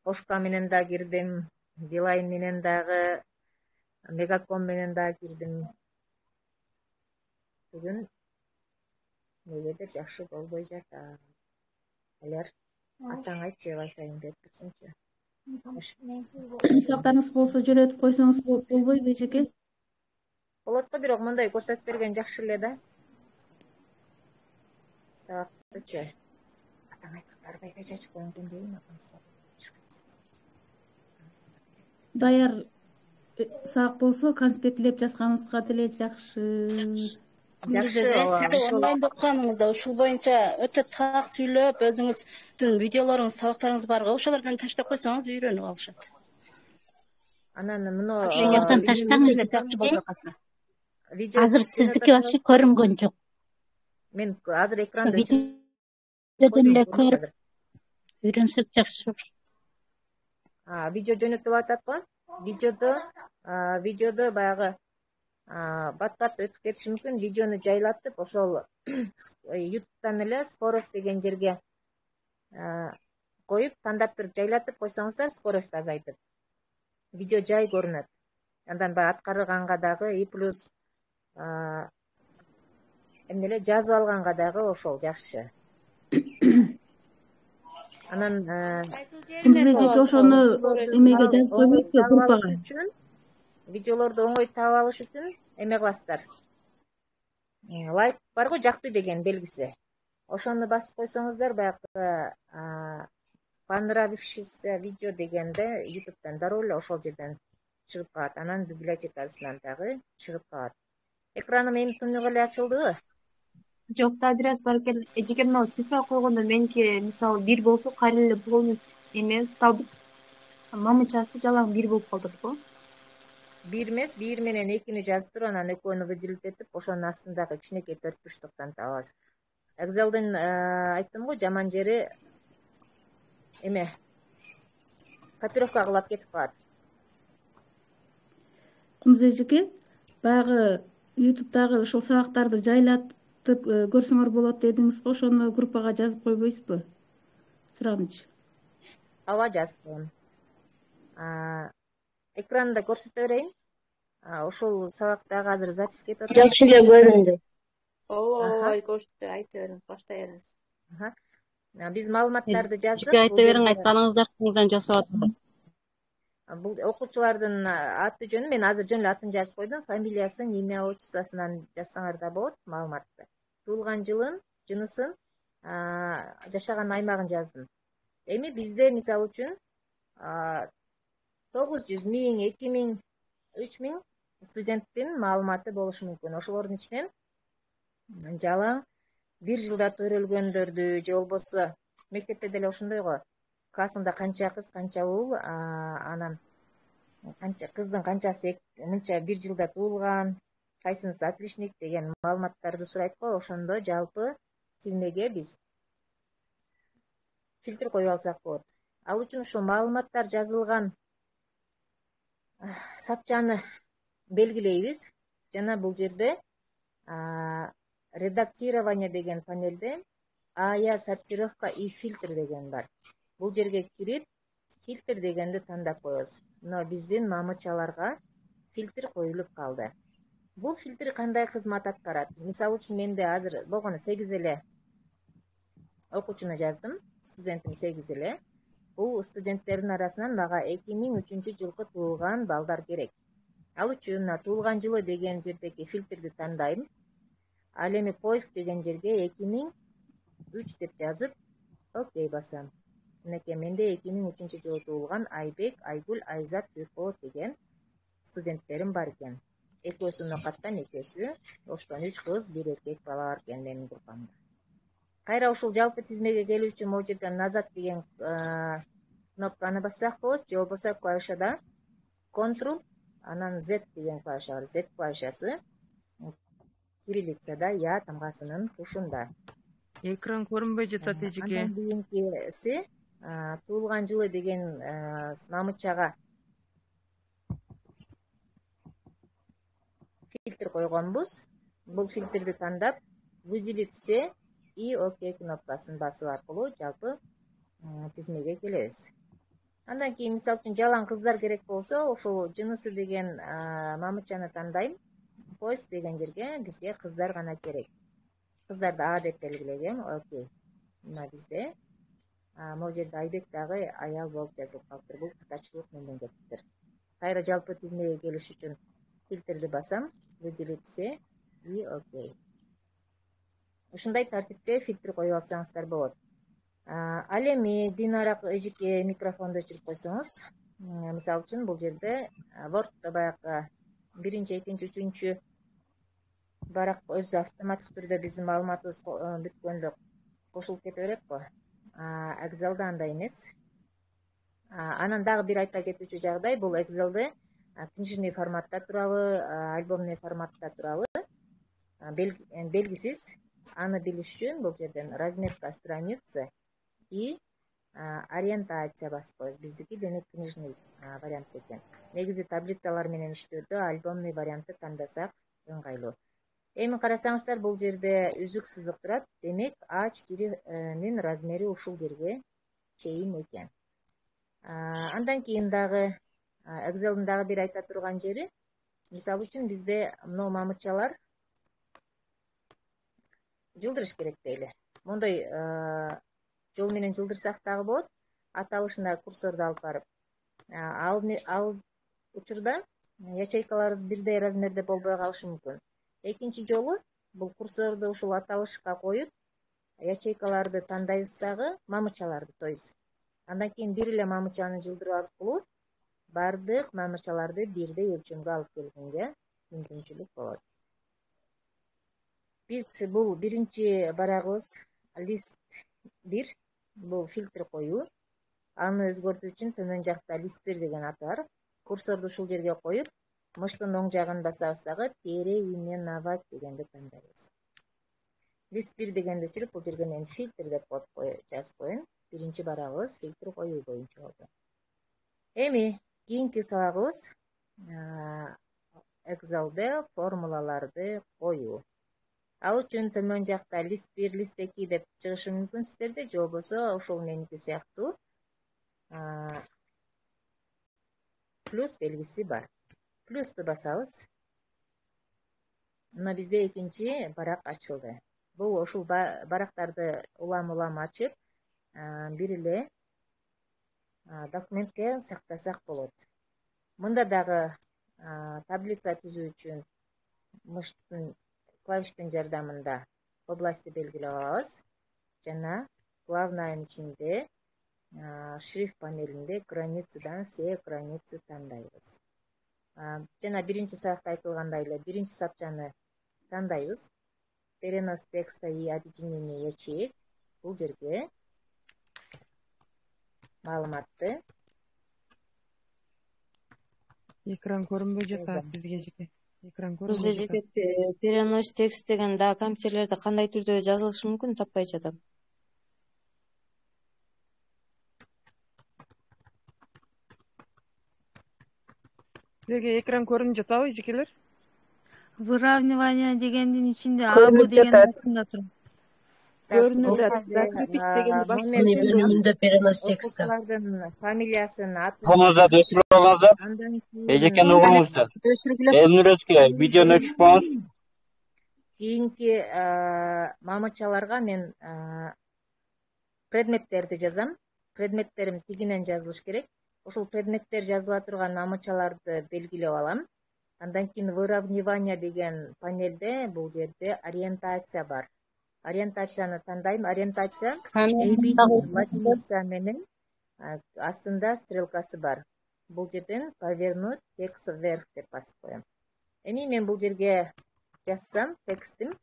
Кошка менен да кирдим, Билайн менен дагы, Мегаком менен дагы кирдим. Бүгүн негедир жакшы болбой жатат. Алар атаң айтчы, Wi-Fi'ни берип кетсеңчи. Сабактарыңыз болсо жөнөтүп койсоңуз болбойбу эжеке? Болот го, бирок мындай көрсөтүп берген жакшы эле да. Сабактычы. Атаң айтып барбайга чачып коюң экен дейм. Даяр сабак болсо конспектлеп жазганыңызга деле жакшы. Сизде онлайн окуганыңызда ушул боюнча өтө так сүйлөп, өзүңүздүн видеолоруңуз, сабактарыңыз бар го, ошолордон таштап койсоңуз үйрөнүп алышат. Анан мына Ошол жактан таштаңыз. Азыр сиздики вообще көрүнгөн жок. Мен азыр экранды видеодон эле көрүп үйрөнсөк жакшы. Видео жөнөтүп атат го. Видеодо баягы бат-бат өтүп кетиши мүмкүн. Видеону жайлатып, ошол YouTube'дан эле скорость деген жерге коюп, тандап туруп жайлатып койсоңуздар, скорость азайтып. Видео жай көрүнөт. Андан баягы аткарганга дагы и плюс эмне эле жазып алганга дагы ошол жакшы. Анан эжеке ошону эмеге жазып койбойсузбу группага? Видеолорду оңой таап алыш үчүн эме кыласыздар. Лайк бар го, жакты деген белгиси. Ошону басып койсоңуздар, баягы понравившийся видео дегенде YouTube'дан дароо эле ошол жерден чыгып калат. Анан библиотекасынан дагы чыгып калат. Экраным эми түнүгө эле ачылдыбы? Жок, да бир аз бар экен. Эжеке мына цифра койгондо меники мисалы 1 болсо кайра эле полностью эме сталбык мамычасы жалаң 1 болуп калдырат го. 1 эмес, 1 менен 2-ни жазып туруп, анан экөөнү выделить этип, ошонун астындагы кичинекей 4 бурчтуктан табабыз. Excel'дин айттым го, жаман жери эме копировка кылып кетип калат. Кумуз эжеке, баягы YouTube'дагы ошол сабактарды жайлатып көрсөңөр болот дедиңиз го, ошону группага жазып койбойсузбу? Суранычы. Ооба, жазып коем. Экранда көрсөтө берейин. Ошол сабактагы азыр запись кетип атат. Жакшы эле көрүндү. Ооба, көрсөтө, айта бериңиз, баштай бериңиз. Биз маалыматтарды жаздык. Айта бериң, айтканыңызды артыңыздан жасап атат. Бул окуучулардын аты жөнү, мен азыр жөн эле атын жазып койдум. Фамилиясын, имя, отчествосунан жазсаңар да болот маалыматты. Туулган жылын, жынысын, жашаган аймагын жаздым. Эми бизде мисалы үчүн 900 миң, 2 миң, 3 миң студенттин маалыматы болушу мүмкүн. Ошолордун ичинен жалаң 1 жылда төрөлгөндөрдү, же болбосо мектепте деле ошондой го. Классында канча кыз, канча уул, анан кыздын канчасы мынча 1 жылда туулган, кайсынысы отличник деген маалыматтарды сурайт го. Ошондо жалпы тизмеге биз фильтр коюп алсак болот. Ал үчүн ошо маалыматтар жазылган сапчаны белгилейбиз. Жана бул жерде редактирование деген панелде АЯ сортировка и фильтр деген бар. Бул жерге кирип, фильтр дегенди тандап коебуз. Мына биздин мамычаларга фильтр коюлуп калды. Бул фильтр кандай кызмат аткарат? Мисалы үчүн менде азыр болгону 8 эле окуучуну жаздым. Студентим 8 эле. Бул студенттердин арасынан мага 2003 жылкы туулган балдар керек. Ал үчүн мына туулган жылы деген жердеги фильтрди тандайм. Ал эми поиск деген жерге 2003 деп жазып, окей басам. Мынакей менде 2003 жылы туулган Айбек, Айгүл, Айзат, Түркболот деген студенттерим бар экен. Экөөсү нокаттан, экөөсү Оштон 3 кыз, 1 эркек бала бар экен менин группамда. Кайра ушул жалпы тизмеге келүү үчүн могу жерден назад деген кнопканы бассак болот, же болбосо клавишада Ctrl, анан Z деген клавиша бар. Z клавишасы кириллицада Я тамгасынын тушунда. Экран көрүнбөй жатат эжеке. Андан кийинкиси туулган жылы деген мамычага фильтр койгонбуз. Бул фильтрди тандап, выделить все и окей кнопкасын басуу аркылуу жалпы тизмеге келебиз. Андан кийин мисалы үчүн жалаң кыздар керек болсо, ушул жынысы деген мамычаны тандайм. Поиск деген жерге бизге кыздар гана керек. Кыздарды А деп белгилегем. Окей. Мына бизде могул жерде Айбек дагы аял болуп жазылып калыптыр. Бул кытачылык менден кетиптир. Кайра жалпы тизмеге келиш үчүн фильтрди басам, выделить все и окей. Ушундай тартипте фильтр коюп алсаңыздар болот. Ал эми Динара эжеке микрофонду өчүрүп койсоңуз, мисалы үчүн бул жерде Word'да баягы 1-2, 3 барак өзү автоматтык түрдө биздин маалыматыбыз бүткөндө кошулуп кете берет го. Excel'да андай эмес. Анан дагы бир айта кетүүчү жагдай, бул Excel'де книжный форматта турабы, альбомный форматта турабы белгисиз. Аны билиш үчүн бул жерден разметка страницы и ориентация басып коебуз. Биздики демек книжный вариант экен. Негизи таблицалар менен иштөөдө альбомный вариантты тандасак ыңгайлуу. Эми карасаңыздар, бул жерде үзүк сызык турат. Демек A4-нин размери ушул жерге чейин экен. Андан кийин дагы Excel'дин дагы бир айта турган жери, мисалы үчүн бизде мына мамычалар жылдырыш керек дейли. Мондой жол менен жылдырсак дагы болот. Аталышына курсорду алып барып. Ал учурда ячейкаларыбыз бирдей размерде болбой калышы мүмкүн. Экинчи жолу бул курсорду ушул аталышка коюп, ячейкаларды тандайбыз дагы, мамычаларды тойбуз. Андан кийин бир эле мамычаны жылдыруу аркылуу бардык мамычаларды бирдей өлчөмгө алып келгенге мүмкүнчүлүк болот. Биз бул биринчи барагыбыз лист 1, бул фильтр коюу. Аны өзгөртүү үчүн төмөн жакта лист 1 деген аты бар. Курсорду ушул жерге коюп, мыштын оң жагын басабыз дагы переименовать дегенди тандайбыз. Лист 1 дегенди өчүрүп, бул жерге мен фильтр деп жазып коеюн. Биринчи барагыбыз фильтр коюу боюнча болду. Эми кийинки сабагыбыз Excel'де формулаларды коюу. Ал үчүн төмөн жакта лист 1, лист 2 деп чыгышы мүмкүн сиздерде, же болбосо ошол меники сыяктуу плюс белгиси бар. Плюсту басабыз. Мына бизде экинчи барак ачылды. Бул ушул барактарды улам ачып, бир эле документке сактасак болот. Мында дагы таблица түзүү үчүн мыштын клавиштин жардамында области белгилеп алабыз. Жана главныйын ичинде шрифт панелинде границадан все границы тандайбыз. Жана биринчи сабакта айтылгандай эле биринчи сапчаны тандайбыз. Перенос текста и объединение ячеек. Бул жерге маалыматты экран көрүнбөй жатат бизге жеке. Экран көрүнбөй жатат. Перенос текст деген дагы компьютерлерде кандай түрдө жазылышы мүмкүн, таппай жатам. Силерге экран көрүнүп жатабы, эжекелер? Выравнивание дегендин ичинде абы деген астында тур. Көрүнүп жатат. Закрепить дегенди басып бөлүмүндө перенос текстте. Фамилиясын, атын. Телефонуңузду өчүрүп алыңыздар. Эжекени угуңуздар. Элнуреске видеону өчүрүп коюңуз. Кийинки мамычаларга мен предметтерди жазам. Предметтерим тигинен жазылыш керек. Ошол предметтер жазыла турган мамычаларды белгилеп алам. Андан кийин выравнивание деген панелде бул жерде ориентация бар. Ориентацияны тандайм. Ориентация латиница менен астында стрелкасы бар. Бул жерден повернуть текст вверх деп басып коем. Эми мен бул жерге жазсам текстим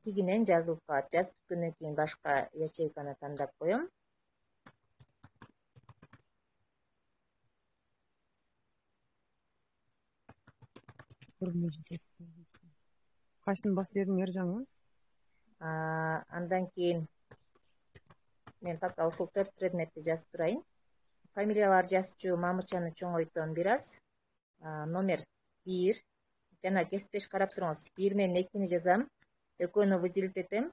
тигинен жазылып калат. Жазып бүткөндөн кийин башка ячейканы тандап коем. Кайсын басып бердиңер жаңы? Андан кийин мен пока ушул 4 предметти жазып турайын. Фамилиялар жазчу мамычаны чоңойтом бир аз. Номер 1 жана кесиптеш карап туруңуз. 1 менен 2-ни жазам. Экөөнү выделить этем.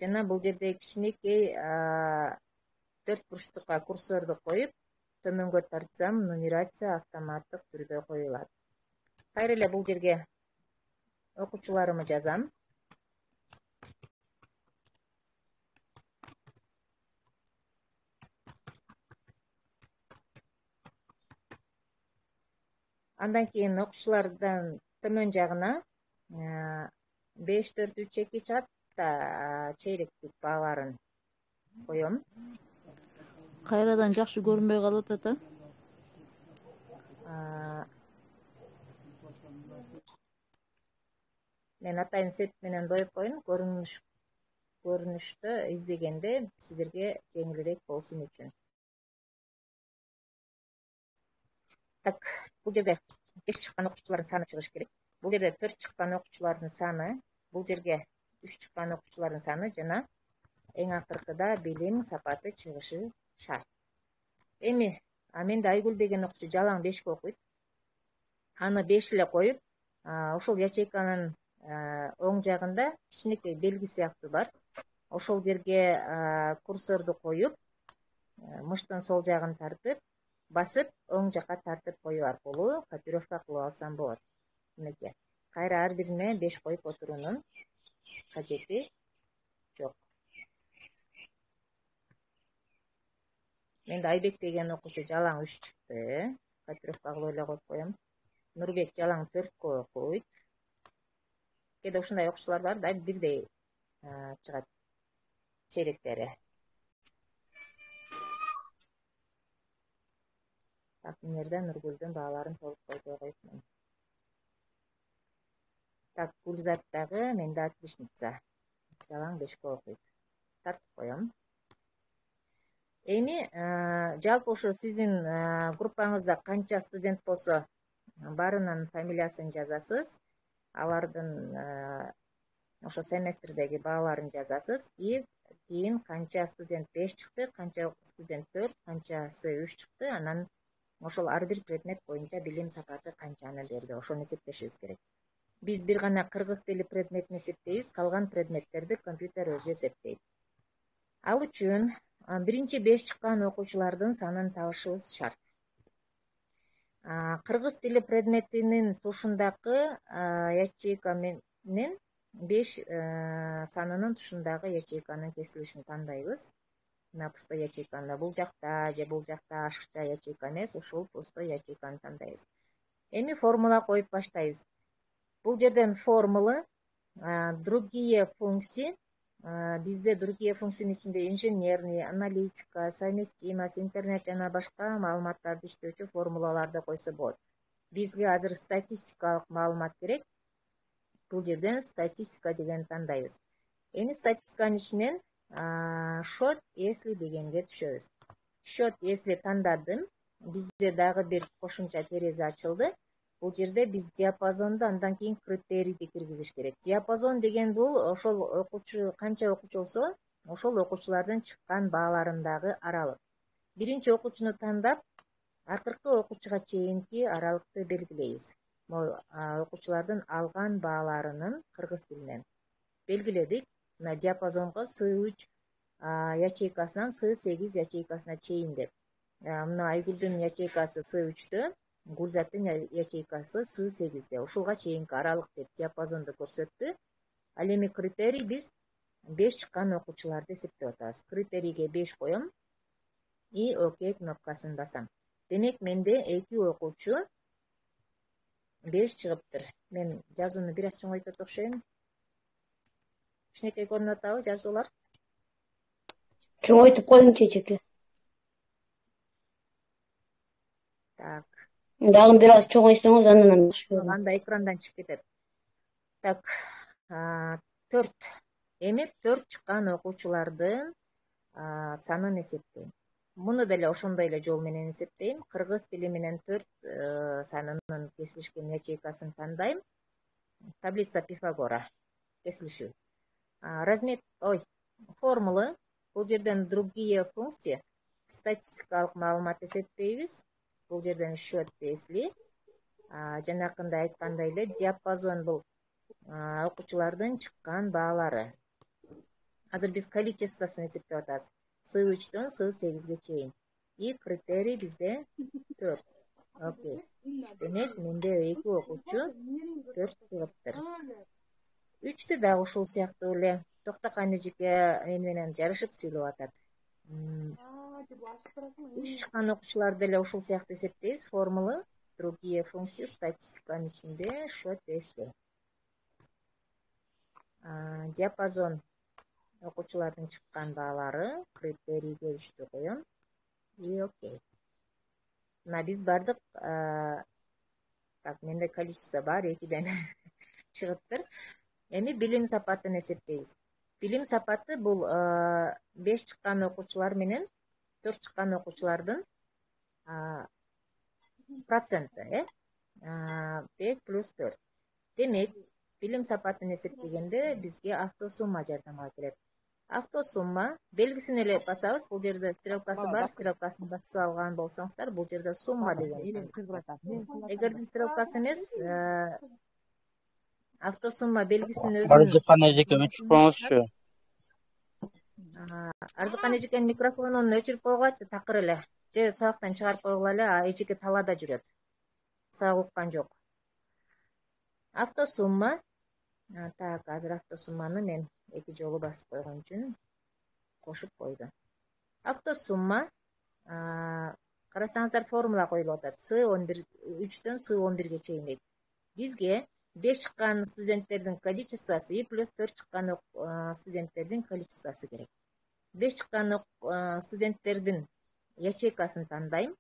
жана бул жерде кичинекей 4 бурчтукка курсорду коюп, төмөнгө тартсам нумерация автоматтык түрдө коюлат. Кайра эле бул жерге окуучуларымды жазам. Андан кийин окуучулардан төмөн жагына 5-4-3-2 чыгат да чейректик бааларын коем. Кайрадан жакшы көрүнбөй калып атат, Мен атайын сет менен доюп коеюн, көрүнүштө издегенде сиздерге жеңилирээк болсун үчүн. Так, бул жерде 5 чыккан окуучулардын саны чыгыш керек. Бул жерде 4 чыккан окуучулардын саны, бул жерге 3 чыккан окуучулардын саны жана эң акыркыда билим сапаты чыгышы шарт. Эми менде Айгүл деген окуучу жалаң 5 окуйт. Аны 5 эле коюп, ошол ячейканын оң жагында кичинекей белги сыяктуу бар. Ошол жерге курсорду коюп, мыштын сол жагын тартып, басып, оң жакка тартып коюу аркылуу копировка кылып алсам болот. Мынакей. Кайра ар бирине 5 коюп отуруунун кажети жок. Менде Айбек деген окуучу жалаң 3 чыкты. Копировка кылып эле коюп коем. Нурбек жалаң 4 окуйт. Кээде ушундай окуучулар бар да, бирдей чыгат чейректери. Так, мына жерде Нургүлдүн бааларын толук койбой коюпмун. Так, Гүлзат дагы менде отличница. Жалаң 5 окуйт. Тартып коем. Эми жалпы ошо сиздин группаңызда канча студент болсо, баарынын фамилиясын жазасыз. Алардын ошо семестрдеги бааларын жазасыз. И кийин канча студент 5 чыкты, канча студент 4, канчасы 3 чыкты, анан ошол ар бир предмет боюнча билим сапаты канчаны берди, ошону эсептешибиз керек. Биз бир гана кыргыз тили предметин эсептейбиз, калган предметтерди компьютер өзү эсептейт. Ал үчүн биринчи 5 чыккан окуучулардын санын табышыбыз шарт. Кыргыз тили предметинин тушундагы ячейка менен 5 санынын тушундагы ячейканын кесилишин тандайбыз. Мына пустой ячейканы бул жакта же бул жакта ашыкча ячейка эмес, ушул пустой ячейканы тандайбыз. Эми формула коюп баштайбыз. Бул жерден формулы другие функции, бизде другие функциянын ичинде инженерный, аналитика, совместимость, интернет жана башка маалыматтарды иштөөчү формулаларды койсо болот. Бизге азыр статистикалык маалымат керек. Бул жерден статистика деген тандайбыз. Эми статистиканын ичинен счет если дегенге түшөбүз. Счет если тандадым. Бизде дагы бир кошумча терезе ачылды. Бул жерде биз диапазонду андан кийин критерийди киргизиш керек. Диапазон деген бул ошол окуучу канча окуучу болсо, ошол окуучулардын чыккан бааларындагы аралык. Биринчи окуучуну тандап, акыркы окуучуга чейинки аралыкты белгилейбиз. Окуучулардын алган бааларынын кыргыз тилинен белгиледик. Мына диапазонго С3 ячейкасынан С8 ячейкасына чейин деп. Мына Айгүлдүн ячейкасы С3тө, Гүлзаттын ячейкасы С8де. Ушулга чейинки аралык деп диапазонду көрсөттү. Ал эми критерий биз 5 чыккан окуучуларды эсептеп атабыз. Критерийге 5 коем и ОК кнопкасын басам. Демек менде 2 окуучу 5 чыгыптыр. Мен жазууну бир аз чоңойтот окшойм. Кичинекей көрүнүп атабы жазуулар? Чоңойтуп коюң чечеке. Так. Дагы бир аз чоңойтсоңуз андан жакшы болот. Анда экрандан чыгып кетет. Так, 4. Эми 4 чыккан окуучулардын санын эсептейм. Муну деле ошондой эле жол менен эсептейм. Кыргыз тили менен 4 санынын кесилишкен ячейкасын тандайм. Таблица Пифагора кесилишүү. Размер, формулы. Бул жерден другие функции, статистикалык маалымат эсептейбиз. Бул жерден счет если. Жанакында айткандай эле диапазон бул окуучулардын чыккан баалары. азыр биз количествосын эсептеп атабыз. С3-төн С8-ге чейин. И критерий бизде 4. Окей. Демек, менде 2 окуучу 4 чыгыптыр. 3-тө дагы ушул сыяктуу эле. Токтокан эжеке мен менен жарышып сүйлөп атат. 3 чыккан окуучуларды деле ушул сыяктуу эсептейбиз. Формула другие функции статистиканын ичинде счет эсте. Диапазон окуучулардын чыккан баалары критерийге 3-тө коем. И окей. Мына биз бардык, так, менде количество бар, 2ден чыгыптыр. Эми билим сапатын эсептейбиз. Билим сапаты бул 5 чыккан окуучулар менен 4 чыккан окуучулардын проценти, 5 плюс 4. Демек, билим сапатын эсептегенде бизге автосумма жардамга келет. Автосумма белгисин эле басабыз. Бул жерде стрелкасы бар, стрелкасын басып алган болсоңуздар, бул жерде сумма деген. Эгерде стрелкасы эмес, автосумма белгисин өзү. Арзыкан эжеке өчүрүп коюңузчу. Арзыкан эжекенин микрофонун өчүрүп койгучу, такыр эле. Же сабактан чыгарып койгула эле, эжеке талаада жүрөт. Сабак уккан жок. Автосумма. Так, азыр автосумманы мен 2 жолу басып койгон үчүн кошуп койду. Автосумма, карасаңыздар, формула коюлуп атат. С11, 3-төн С11-ге чейин дейт. Бизге 5 чыккан студенттердин количествосы и плюс 4 чыккан студенттердин количествосы керек. 5 чыккан студенттердин ячейкасын тандайм.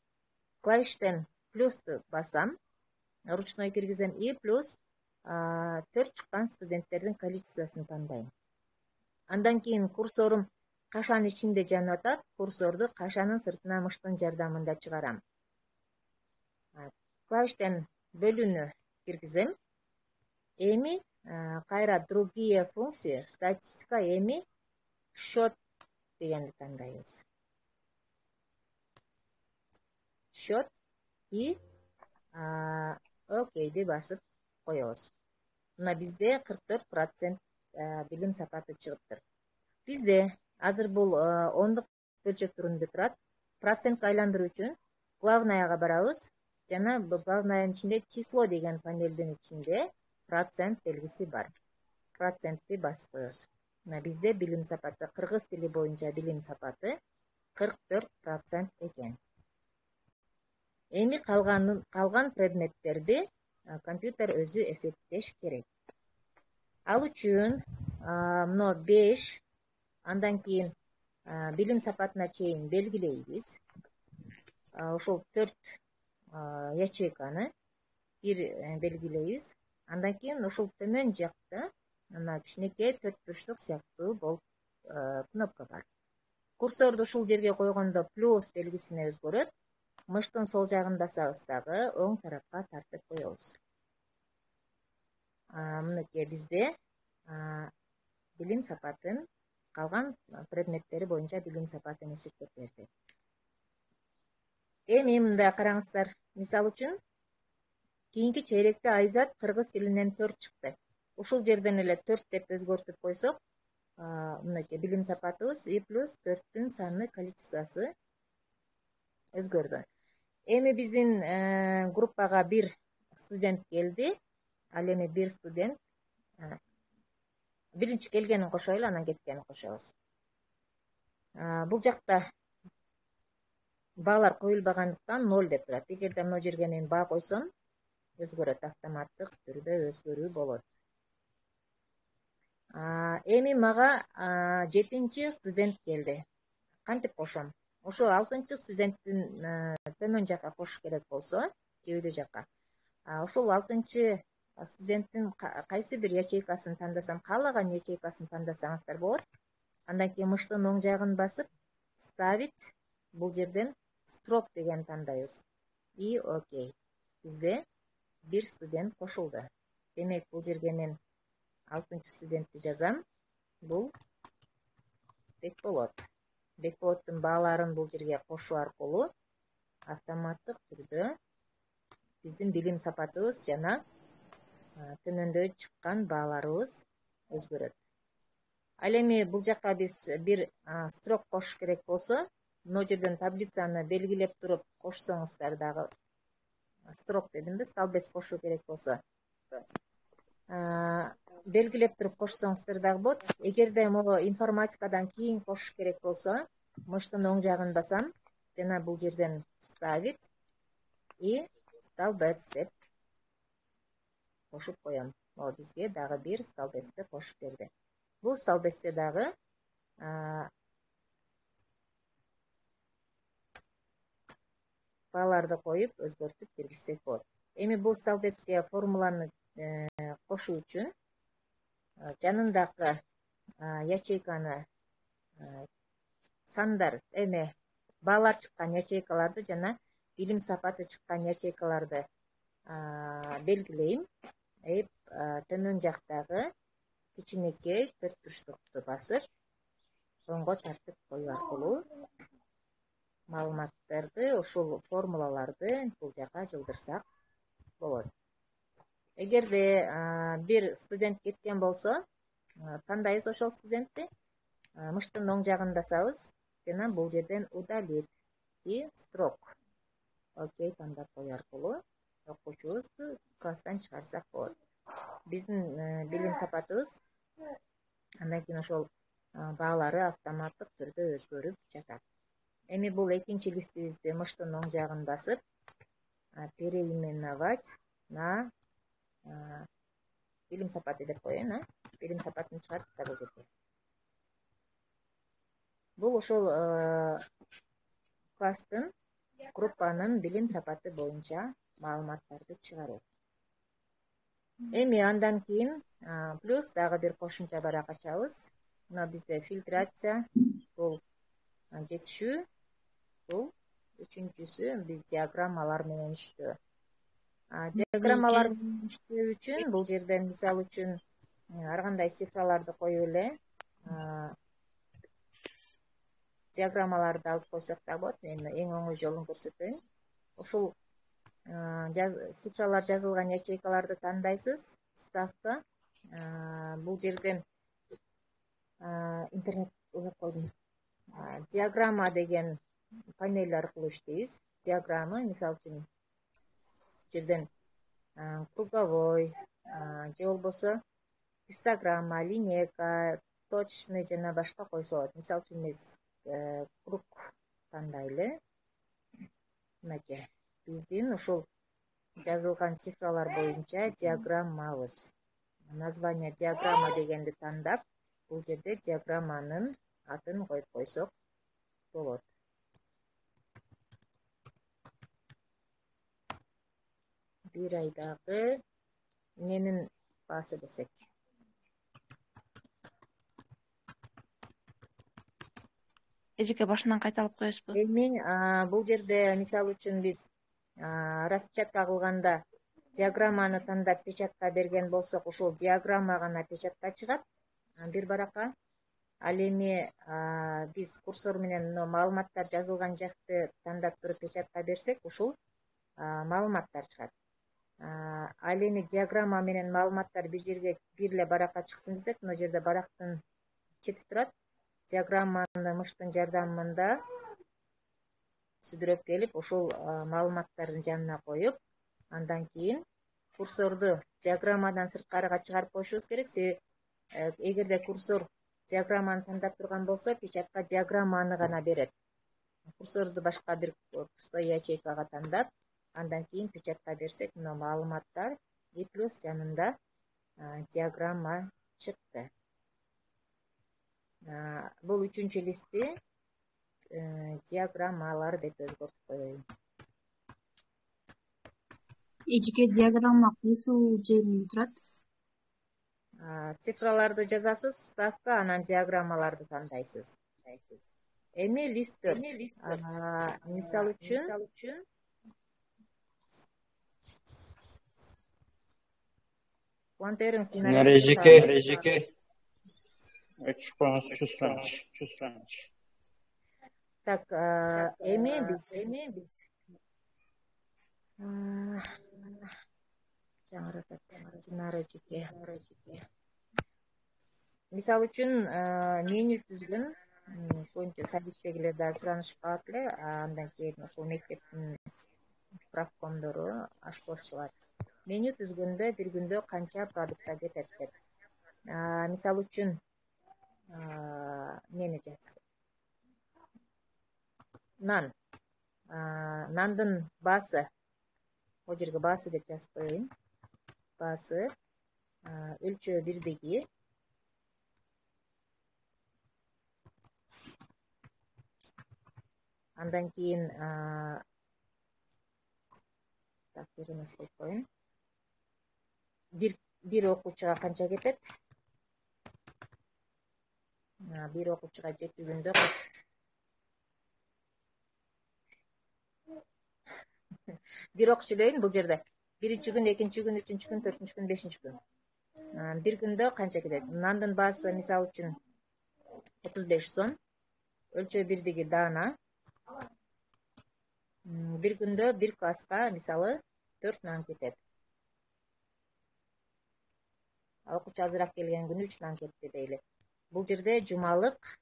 Клавиштен плюсту басам, ручной киргизем и плюс 4 чыккан студенттердин количествосын тандайм. Андан кийин курсорум кашанын ичинде жанып атат. Курсорду кашанын сыртына мыштын жардамында чыгарам. Клавиштен бөлүүнү киргизем. Эми кайра другие функции, статистика, эми счет дегенди тандайбыз. Счет и окейди басып коебуз. Мына бизде 44% билим сапаты чыгыптыр. Бизде азыр бул ондук бөлчөк түрүндө турат. Процентке айландыруу үчүн главнаяга барабыз. Жана бул главнаянын ичинде число деген панелдин ичинде процент белгиси бар. Процентти басып коебуз. Мына бизде билим сапаты, кыргыз тили боюнча билим сапаты 44% экен. Эми калган предметтерди компьютер өзү эсептеш керек. Ал үчүн мына 5, андан кийин билим сапатына чейин белгилейбиз. Ошол 4 ячейканы бир белгилейбиз. Андан кийин ушул төмөн жакта мына кичинекей 4 бурчтук сыяктуу болуп кнопка бар. Курсорду ушул жерге койгондо плюс белгисине өзгөрөт. Мыштын сол жагын басабыз дагы оң тарапка тартып коебуз. Мынакей бизде билим сапатын, калган предметтери боюнча билим сапатын эсептеп берди. Эми мында караңыздар, мисалы үчүн кийинки чейректе Айзат кыргыз тилинен 4 чыкты. Ушул жерден эле 4 деп өзгөртүп койсок, мынакей билим сапатыбыз и плюс 4-түн саны количествосы өзгөрдү. Эми биздин группага бир студент келди. Ал эми бир студент биринчи келгенин кошойлу, анан кеткенин кошобуз. Бул жакта баалар коюлбагандыктан 0 деп турат. Эгерде мына жерге мен баа койсом, өзгөрөт, автоматтык түрдө өзгөрүү болот. Эми мага 7-чи студент келди. Кантип кошом? Ошол 6-чы студенттин төмөн жакка кошуш керек болсо, кебедө жакка. Ошол 6-чы студенттин кайсы бир ячейкасын тандасам, каалаган ячейкасын тандасаңыздар болот. Андан кийин мыштын оң жагын басып, ставить, бул жерден строк деген тандайбыз. И окей. Бизде бир студент кошулду. Демек, бул жерге мен 6-чы студентти жазам. Бул Бекболот. Бекболоттун бааларын бул жерге кошуу аркылуу автоматтык түрдө биздин билим сапатыбыз жана төмөндө чыккан бааларыбыз өзгөрөт. Ал эми бул жакка биз бир строк кошуш керек болсо, мына жерден таблицаны белгилеп туруп кошсоңуздар дагы, строк дедимби, столбец кошуу керек болсо, белгилеп туруп кошсоңуздар дагы болот. Эгерде могу информатикадан кийин кошуш керек болсо, мыштын оң жагын басам, жана бул жерден ставить и столбец деп кошуп коем. Могу бизге дагы бир столбецти кошуп берди. Бул столбецте дагы бааларды коюп өзгөртүп киргизсек болот. Эми бул столбецке формуланы кошуу үчүн жанындагы ячейканы сандар, баалар чыккан ячейкаларды жана билим сапаты чыккан ячейкаларды белгилейм. Төмөн жактагы кичинекей төрт бурчтукту басып, оңго тартып коюу аркылуу маалыматтарды, ушул формулаларды бул жака жылдырсак болот. Эгерде бир студент кеткен болсо, тандайбыз ошол студентти, мыштын оң жагын басабыз жана бул жерден удалить и строк. Окей, тандап коюу аркылуу окуучубузду класстан чыгарсак болот. Биздин билим сапатыбыз андан кийин ошол баалары автоматтык түрдө өзгөрүп жатат. Эми бул экинчи листибизди мыштын оң жагын басып, переименовать на билим сапаты деп коеюн, билим сапатын чыгарттык да бул жерге. Бул ошол класстын, группанын билим сапаты боюнча маалыматтарды чыгаруу. Эми андан кийин плюс дагы бир кошумча барак ачабыз. Мына бизде фильтрация, бул жетишүү, бул үчүнчүсү биз диаграммалар менен иштөө. Диаграммалар менен иштөө үчүн бул жерден мисалы үчүн ар кандай цифраларды коюп эле диаграммаларды алып койсок да болот. Мен эң оңой жолун көрсөтөйүн. Ушул цифралар жазылган ячейкаларды тандайсыз, ставка. Бул жерден интернет ойлоп койдум. Диаграмма деген панель аркылуу иштейбиз. Диаграммы, мисалы үчүн, жерден круговой, же болбосо гистограмма, линейка, точный жана башка койсо болот. Мисалы үчүн биз круг тандайлы. Мынакей биздин ушул жазылган цифралар боюнча диаграммабыз. Название диаграмма дегенди тандап, бул жерде диаграмманын атын коюп койсок болот. Бир айдагы эмненин баасы десек. Эжеке башынан кайталап коесузбу? Эми бул жерде мисалы үчүн биз распечатка кылганда диаграмманы тандап печатка берген болсок, ушул диаграмма гана печатка чыгат бир баракка. Ал эми биз курсор менен маалыматтар жазылган жакты тандап туруп печатка берсек, ушул маалыматтар чыгат. Ал эми диаграмма менен маалыматтар бир жерге бир эле баракка чыксын десек, мына жерде барактын чети турат. Диаграмманы мыштын жардамында сүдүрөп келип, ушул маалыматтардын жанына коюп, андан кийин курсорду диаграммадан сырткарыга чыгарып коюшубуз керек. Себеби эгерде курсор диаграмманы тандап турган болсо, печатка диаграмманы гана берет. Курсорду башка бир пустой ячейкага тандап, андан кийин печатка берсек, мына маалыматтар и плюс жанында диаграмма чыкты. Бул үчүнчү листти диаграммалар деп өзгөртүп коеюн. Эжеке диаграмма кайсы жеринде турат? Цифраларды жазасыз, ставка, анан диаграммаларды тандайсыз. Эми лист 4. Мисалы үчүн Куантерин Эжеке. Чувствуешь. Так, эми биз жаңыратат. Динара эжеке. мисалы үчүн меню түзгөн көбүнчө садиктегилер да суранышып калат эле, андан кийин ошол мектептин правкомдору, ашпозчулар меню түзгөндө бир күндө канча продукта кетет деп. Мисалы үчүн эмени жазса, нандын баасы, бул жерге баасы деп жазып коеюн. Баасы өлчөө бирдиги андан кийин так эмес кылып коеюн. Бир окуучуга канча кетет? Бир окуучуга жети күндө бир окуучу дейин бул жерде. Биринчи күн, экинчи күн, үчүнчү күн, төртүнчү күн, бешинчи күн. Бир күндө канча кетет? Нандын баасы мисалы үчүн 35 сом. Өлчөө бирдиги даана. Бир күндө бир класска мисалы 4 нан кетет. Окуучу азыраак келген күнү 3 нан кетти дейли. Бул жерде жумалык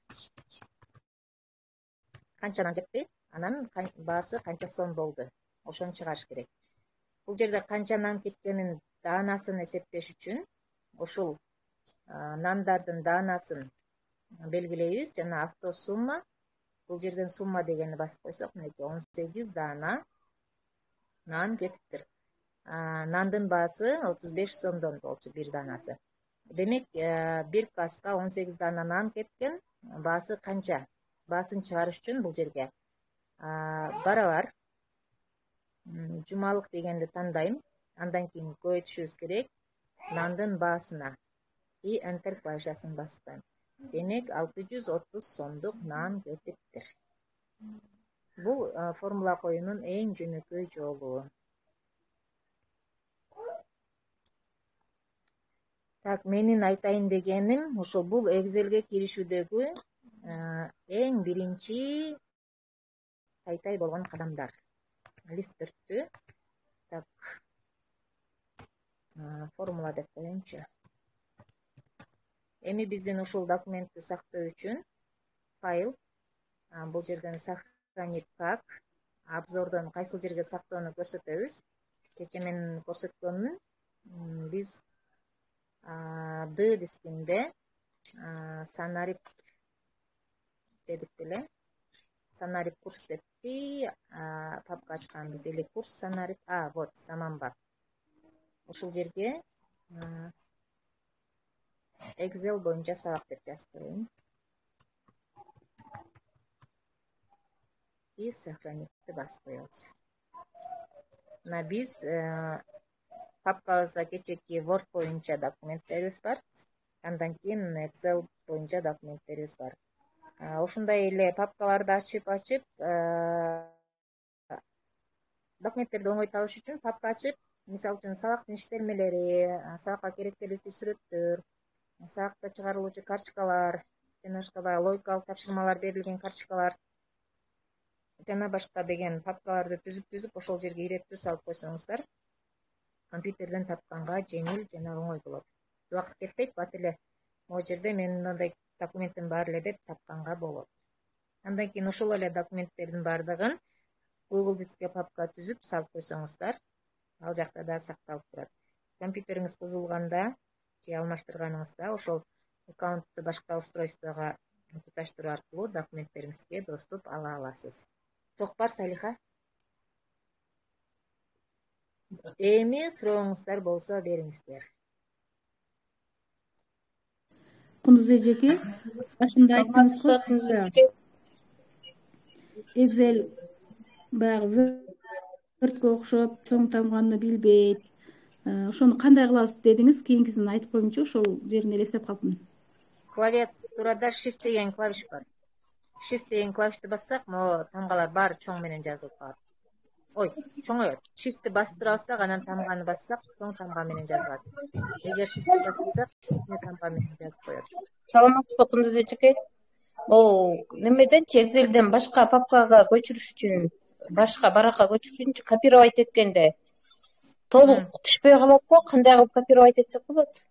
канча нан кетти? Анан баасы канча сом болду? Ошону чыгарыш керек. Бул жерде канча нан кеткенин даанасын эсептеш үчүн ушул нандардын даанасын белгилейбиз. Жана автосумма, бул жерден сумма дегенди басып койсок, мынакей 18 даана нан кетиптир. Нандын баасы 35 сомдон болчу бир даанасы. Демек, бир класска 18 даана нан кеткен, баасы канча? Баасын чыгарыш үчүн бул жерге барабар жумалык дегенди тандайм. Андан кийин көбөйтүшүбүз керек нандын баасына. И enter клавишасын басып коем. Демек, 630 сомдук нан кетиптир. Бул формула коюунун эң жөнөкөй жолу. Так, менин айтайын дегеним, ошол бул Excel'ге киришүүдөгү эң биринчи тай болгон кадамдар. Лист 4-тү. Так, формула деп коеюнчу. Эми биздин ушул документти сактоо үчүн файл, бул жерден сохранить как, обзордон кайсыл жерге сактоону көрсөтөбүз. Кечээ мен көрсөткөнмүн. Биз D дискинде Санарип дедик беле. Санарип курс депти, папка ачканбыз. Или курс Санарип, вот, Саманбап. Ушул жерге Excel боюнча сабак деп жазып коеюн. И сохранитти басып коебуз. Мына биз папкабызда кечээки Word боюнча документтерибиз бар. Андан кийин Excel боюнча документтерибиз бар. Ушундай эле папкаларды ачып документтерди оңой табыш үчүн папка ачып, мисалы үчүн сабактын иштелмелери, сабакка керектеликтүү сүрөттөр, сабакта чыгарылуучу карточкалар, жана башка баягы логикалык тапшырмалар берилген карточкалар, жана башка деген папкаларды түзүп ошол жерге иреттүү салып койсоңуздар, компьютерден тапканга жеңил жана оңой болот. Убакыт кетпейт, бат эле могу жерде менин мындай документтин бар эле деп тапканга болот. Андан кийин ошол эле документтердин бардыгын Google дискке папка түзүп салып койсоңуздар, ал жакта да сакталып турат. Компьютериңиз бузулганда же алмаштырганыңызда ошол аккаунтту башка устройствого туташтыруу аркылуу документтериңизге доступ ала аласыз. Ток бар, Салиха? Эми сурооңуздар болсо бериңиздер. Кундуз эжеке, башында айттыңыз го, Excel баягы Word'го окшоп чоң тамганды билбейт. Ошону кандай кылабыз дедиңиз, кийинкисин айтып коеюнчу, ошол жерин элестеп калдым. Клавиатурада Shift деген клавиш бар. Shift деген клавишти бассак, могу тамгалар баары чоң менен жазылып калат. Ой, чоңоёт. Shift'ти басып турабыз да, анан тамганы бассак, чоң тамга менен жазылат. Эгер Shift'ти баспасак, тамга менен жазып коет. Саламатсызбы, Кундуз эжеке? Бул немеденчи Excel'ден башка папкага көчүрүш үчүн, башка баракка көчүрүш үчүн копировать эткенде толук түшпөй калат го, кандай кылып копировать этсек болот?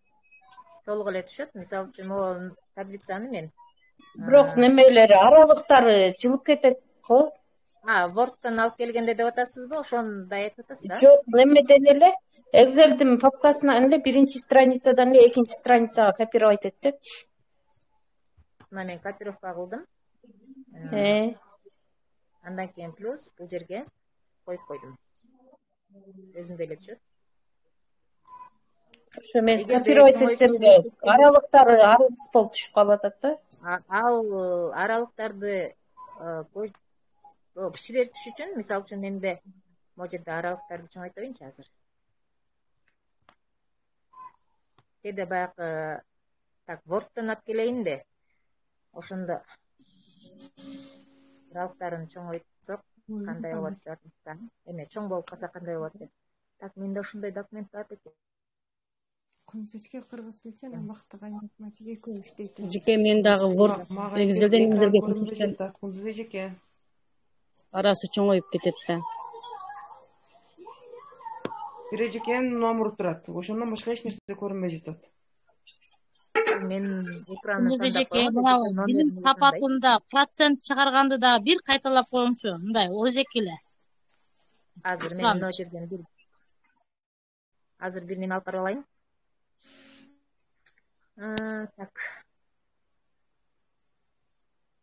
толук эле түшөт. Мисалы үчүн могу таблицаны мен Бирок немелери аралыктары жылып кетет го. Word'тон алып келгенде деп атасызбы? Ошондой айтып атасыз да? Жок, немеден эле Excel'дин папкасынан эле биринчи страницадан эле экинчи страницага копировать этсекчи. Мына мен копировка кылдым. Андан кийин плюс бул жерге коюп койдум. Өзүндө эле түшөт. Ошо мен копировать этсемде аралыктары аралсыз болуп түшүп калып атат да. Ал аралыктарды кичирейтиш үчүн, мисалы үчүн менде могу жерде аралыктарды чоңойтоюнчу азыр. Кээде баягы так Word'тон алып келейинби? Ошондо аралыктарын чоңойтсок кандай болот деп атам. Эме чоң болуп калса кандай болот деп. Так, менде ошондой документ бар экен. Кунсечке кыргыз эче убактыга математика экөө иштейт. Жеке мен дагы Word Excel'ден эмдерге Кундуз эжеке. Арасы чоңоюп кетет да. Бир эжекенин номеру турат. Ошондон башка эч нерсе көрүнбөй жатат. Мен экранды Кундуз эжеке, мынабы билим сапатында процент чыгарганды дагы бир кайталап коюңчу. Мындай өзеки эле. Азыр мен мына жерден бир неме алып барып алайын. Так.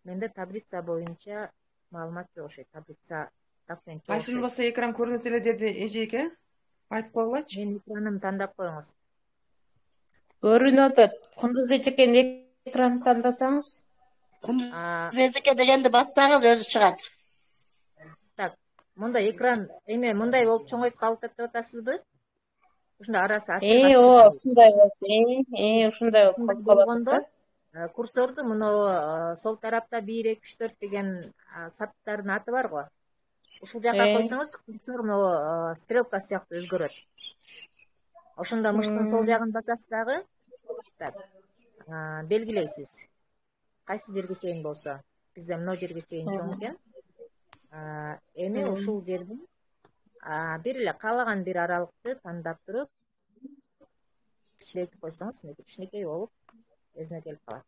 Менде таблица боюнча маалымат жок ошо. Таблица документ жок. Кайсын болсо экран көрүнөт эле деди эжеке. Айтып койгулачы. Мен экранымды тандап коюңуз. Көрүнүп атат. Кундуз эжекенин экранын тандасаңыз. Кундуз эжеке дегенди бассаңыз өзү чыгат. Так, мындай экран эме мындай болуп чоңоюп калып атат деп атасызбы? Ушундай арасы ачык. Ушундай болуп. Ушундай болуп калганда курсорду мына сол тарапта 1 2 3 4 деген саттардын аты бар го. Ушул жака койсоңуз курсор мына стрелка сыяктуу өзгөрөт. Ошондо мыштын сол жагын басасыз дагы. Так. Белгилейсиз. Кайсы жерге чейин болсо. Бизде мына жерге чейин чоң экен. Эми ушул жердин бир эле каалаган бир аралыкты тандап туруп кичирейтип койсоңуз, кичинекей болуп өзүнө келип калат.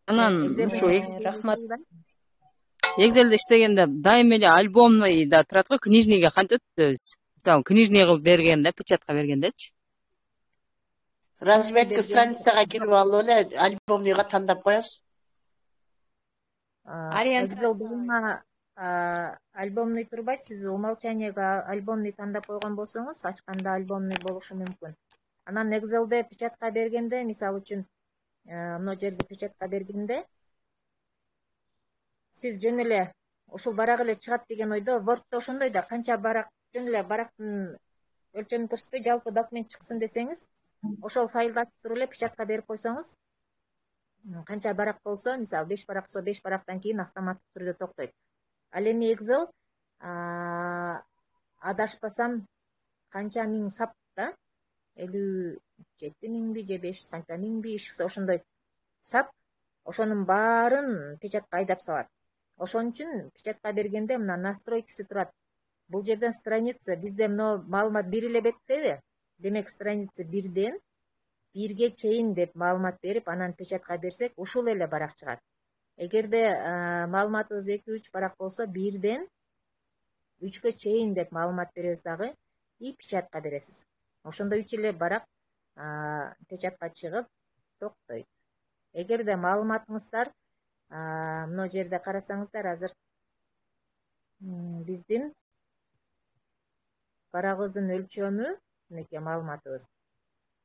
Анан ушу рахмат. Excel'де иштегенде дайыма эле альбомный да турат го, книжныйга кантип өтөбүз? Мисалы, книжный кылып бергенде, печатка бергендечи. Разметка страницага кирип алып эле альбомныйга тандап коесуз. Excel буюма альбомный турбайт. Сиз умолчанияга альбомный тандап койгон болсоңуз, ачканда альбомный болушу мүмкүн. Анан Excel'де печатка бергенде, мисалы үчүн мына жерде печатка бергенде сиз жөн эле ушул барак эле чыгат деген ойдо, Word'то ошондой да канча барак жөн эле барактын өлчөмүн көрсөтпөй жалпы документ чыксын десеңиз, ошол файлды ачып туруп эле печатка берип койсоңуз, канча барак болсо, мисалы 5 барак болсо 5 барактан кийин автоматтык түрдө токтойт. Ал эми Excel адашпасам канча миң сап да, 57 миңби же 500 канча миңби ишиксе ошондой сап, ошонун баарын печатка айдап салат. Ошон үчүн печатка бергенде мына настройкасы турат. Бул жерден страница бизде мына маалымат 1 эле беттеби? Демек страница 1ден 1ге чейин деп маалымат берип, анан печатка берсек, ушул эле барак чыгат. Эгерде маалыматыбыз 2-3 барак болсо, 1ден 3кө чейин деп маалымат беребиз дагы и печатка бересиз. Ошондо 3 эле барак печатка чыгып токтойт. Эгерде маалыматыңыздар мына жерде карасаңыздар, азыр биздин барагыбыздын өлчөмү, мынакей маалыматыбыз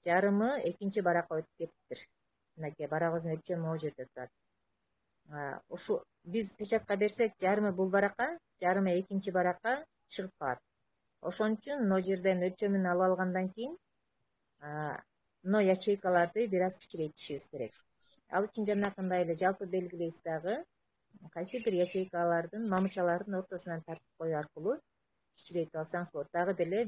жарымы экинчи баракка өтүп кетиптир. Мынакей барагыбыздын өлчөмү могу жерде турат. Ушу биз печатка берсек, жарымы бул баракка, жарымы экинчи баракка чыгып калат. Ошон үчүн мына жерден өлчөмүн алып алгандан кийин мына ячейкаларды бир аз кичирейтишибиз керек. Ал үчүн жанакындай эле жалпы белгилейсиз дагы, кайсы бир ячейкалардын, мамычалардын ортосунан тартып коюу аркылуу кичирейтип алсаңыз болот. Дагы деле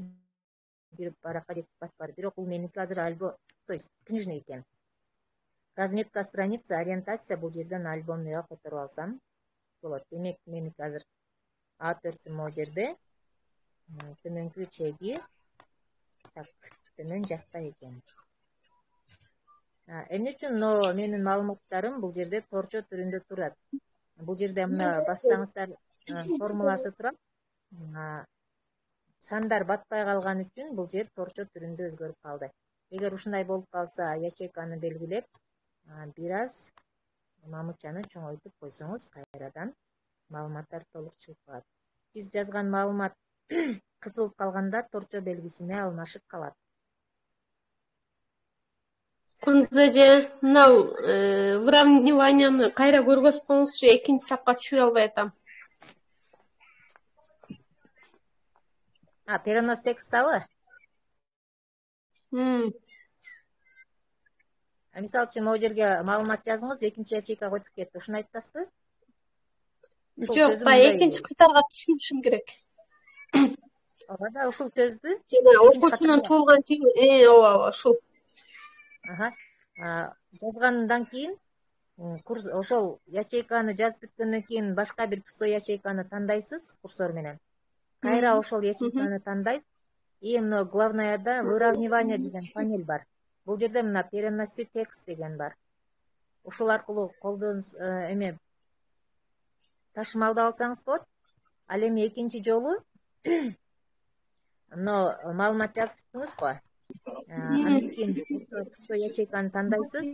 бир баракка жетип батпады. Бирок бул меники азыр альбом, то есть книжный экен. Разметка страница, ориентация бул жерден альбомныйга которуп алсам болот. Демек меники азыр A4 могу жерде, төмөнкү чеги, так, төмөн жакта экен. Эмне үчүн мына менин маалыматтарым бул жерде торчо түрүндө турат. Бул жерде мына бассаңыздар формуласы турат. Сандар батпай калган үчүн бул жер торчо түрүндө өзгөрүп калды. Эгер ушундай болуп калса, ячейканы белгилеп, бир аз мамычаны чоңойтуп койсоңуз, кайрадан маалыматтар толук чыгып калат. Биз жазган маалымат кысылып калганда торчо белгисине алмашып калат. Кундуз эже, мынау выравниванияны кайра көргөзүп коюңузчу, экинчи сапка түшүрө албай атам. Перенос текстабы? Мисалы үчүн могу жерге маалымат жазыңыз, экинчи ячейка койтуп кетти. Ушуну айтып атасызбы? Жок, баягы экинчи катарга түшүрүшүм керек. Ооба да, ушул сөздү жана окуучунун туулган жери, ооба, ушул. Жазгандан кийин ошол ячейканы жазып бүткөндөн кийин башка бир пустой ячейканы тандайсыз курсор менен. Кайра ошол ячейканы тандайсыз. И мына главныйда выравнивание деген панель бар. Бул жерде мына перенести текст деген бар. Ушул аркылуу колдонуш ташымалдап алсаңыз болот. Ал эми экинчи жолу мына маалымат жазып бүттүңүз го. Андан кийин пустой ячейканы тандайсыз.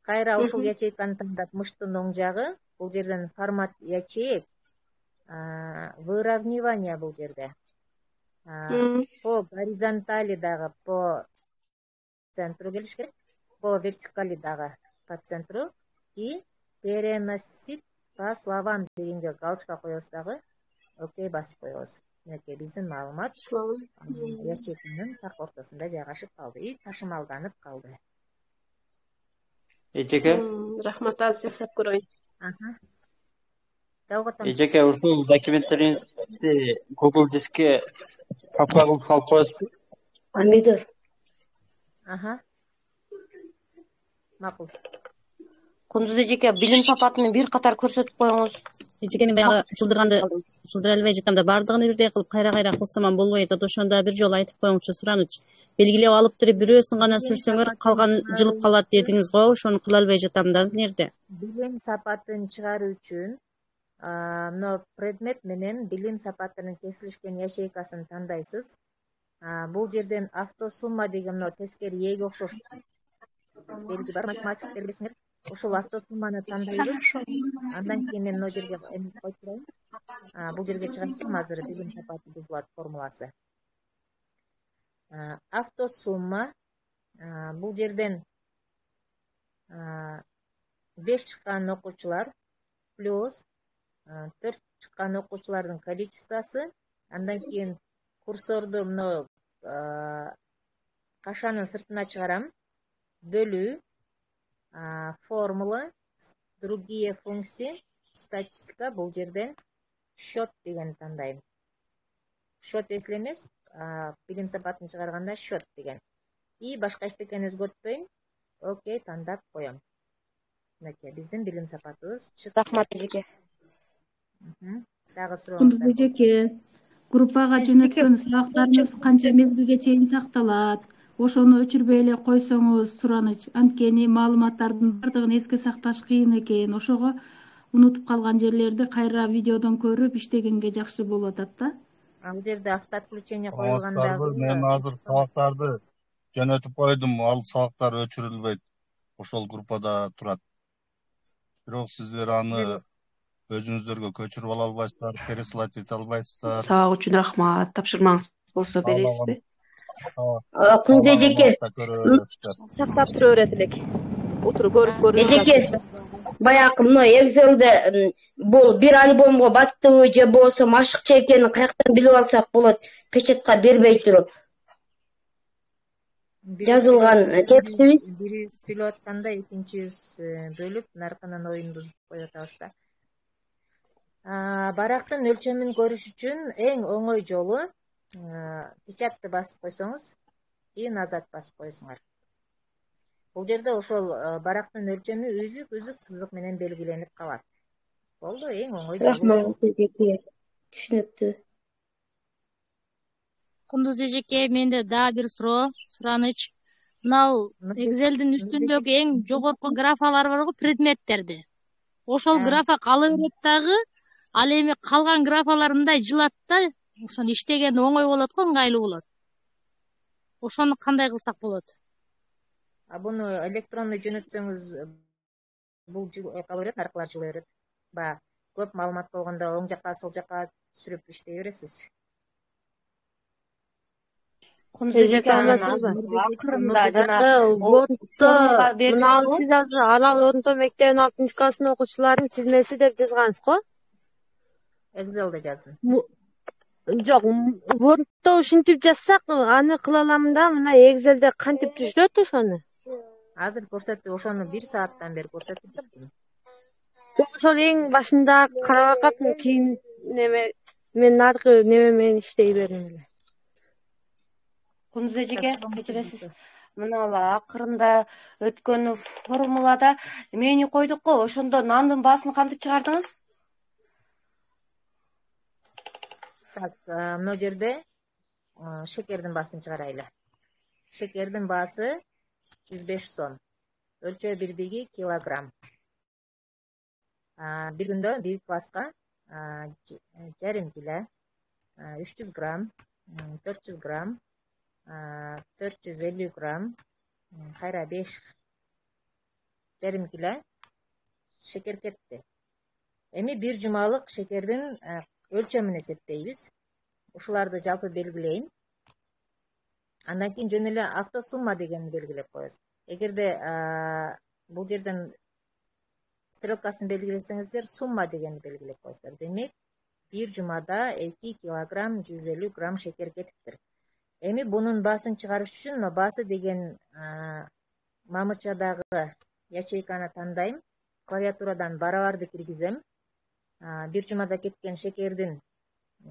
Кайра ушул ячейканы тандап, мыштын оң жагы, бул жерден формат ячеек, выравнивание бул жерде. По горизонтали дагы по центру келиш керек, по вертикали дагы по центру и переносить по словам дегенге галочка коебуз дагы, окей басып коебуз. Мынакей биздин маалымат ячейканын так ортосунда жайгашып калды и ташымалданып калды. Эжеке, Рахмат, азыр жасап көрөйүн. Эжеке, ушул документтериңизди Google дискке папка кылып салып коесузбу? Помидор. Макул. Кундуз эжеке, билим сапатын бир катар көрсөтүп коюңуз. Эжекени баягы жылдырып элбей жатам да, баардыгын бирдей кылып кайра кылсам болбой атат. Ошондо бир жолу айтып коюңузчу, сураныч. Белгилеп алып туруп бирөөсүн гана сүрсөңөр, калган жылып калат дедиңиз го, ошону кыла албай жатам да, эмнерде? Билим сапатын чыгаруу үчүн мына предмет менен билим сапатынын кесилишкен ячейкасын тандайсыз. Бул жерден автосумма деген мына тескери ээге окшош белги бар, математиктер билесиңер. Ушул автосумманы тандайбыз. Андан кийин мен мына жерге коюп турайын. Бул жерге чыгарсам азыр билим сапаты бузулат формуласы. Автосумма бул жерден 5 чыккан окуучулар плюс 4 чыккан окуучулардын количествосу, андан кийин курсорду мына кашанын сыртына чыгарам, бөлүү, формула, другие функции, статистика, бул жерден счет деген тандайм. Счет эсил эмес, билим сапатын чыгарганда счет деген. И башка эчтекени өзгөртпөйм. Окей, тандап коем. Мынакей биздин билим сапатыбыз чыкты. Рахмат эжеке. Дагы сурооңуз. Кундуз эжеке, группага жөнөткөн сабактарыңыз канча мезгилге чейин сакталат? Ошону өчүрбөй эле койсоңуз сураныч. Анткени маалыматтардын бардыгын эске сакташ кыйын экен. Ошого унутуп калган жерлерди кайра видеодон көрүп иштегенге жакшы болуп атат да. Бул жерде автоотключение коюлганда мен азыр сабактарды жөнөтүп койдум, ал сабактар өчүрүлбөйт. Ошол группада турат. Бирок сиздер аны өзүңүздөргө көчүрүп ала албайсыздар, пересылать ете албайсыздар. Сабак үчүн рахмат. Тапшырмаңыз болсо бересизби? Кундуз эжеке, сактап тура берет элек. Отуруп көрүп эжеке, баягы мына Excel'де бул бир альбомго баттыбы же болбосо машыкча экенин каяктан билип алсак болот, печатка бербей туруп? Жазылган текстибиз. Бири сүйлөп атканда экинчибиз бөлүп, наркынан оюн бузуп коюп атабыз да. Барактын өлчөмүн көрүш үчүн эң оңой жолу печатты басып койсоңуз и назад басып коесуңар. Бул жерде ошол барактын өлчөмү үзүк сызык менен белгиленип калат. Болду, эң оңой жолу. Рахмат эжеке. Түшүнүктүү. Кундуз эжеке, менде дагы бир суроо, сураныч. мынау экзелдин үстүндөгү эң жогорку графалар барго предметтерди. Ошол графа кала берет дагы, ал эми калган графалар мындай жылат да, ошону иштеген оңой болот го, ыңгайлуу болот. Ошону кандай кылсак болот? Буну электронный жөнөтсөңүз бул кала берет, аркылар жыла берет. Баягы көп маалымат болгондо оң жакка, сол жакка сүрүп иштей бересиз. Мына сиз азыр Арал орто мектебинин 6-классын окуучуларынын тизмеси деп жазгансыз го? Excel'de жаздым. Жок, Word'то ушинтип жазсак, аны кыла аламын да, мына Excel'де кантип түзүлөт ошону? Азыр көрсөтүп, ошону 1 сааттан бери көрсөтүп биттим. Ошол эң башында карап акаттым, кийин мен наркы неме менен иштей бердим эле. Кундуз эжеке, кечиресиз. Мына акырында өткөн формулада мени койдук го, ошондо нандын баасын кантип чыгардыңыз? Так, мына жерде шекердин баасын чыгарайлы. Шекердин баасы 105 сом. Өлчөө бирдиги килограмм. Bir günde bir класска жарым кило, 300 грамм, 400 грамм, 450 грамм, кайра 5 жарым кило шекер кетти. Эми бир жумалык шекердин өлчөмүн эсептейбиз. Ушуларды жалпы белгилейм. Андан кийин жөн эле автосумма дегенди белгилеп коебуз. Эгерде бул жерден стрелкасын белгилесеңиздер, сумма дегенди белгилеп коесуздар. Демек, бир жумада 2 килограмм 150 грамм шекер кетиптир. Эми бунун баасын чыгарыш үчүн баасы деген мамычадагы ячейканы тандайм, клавиатурадан барабарды киргизем. Бир жумада кеткен шекердин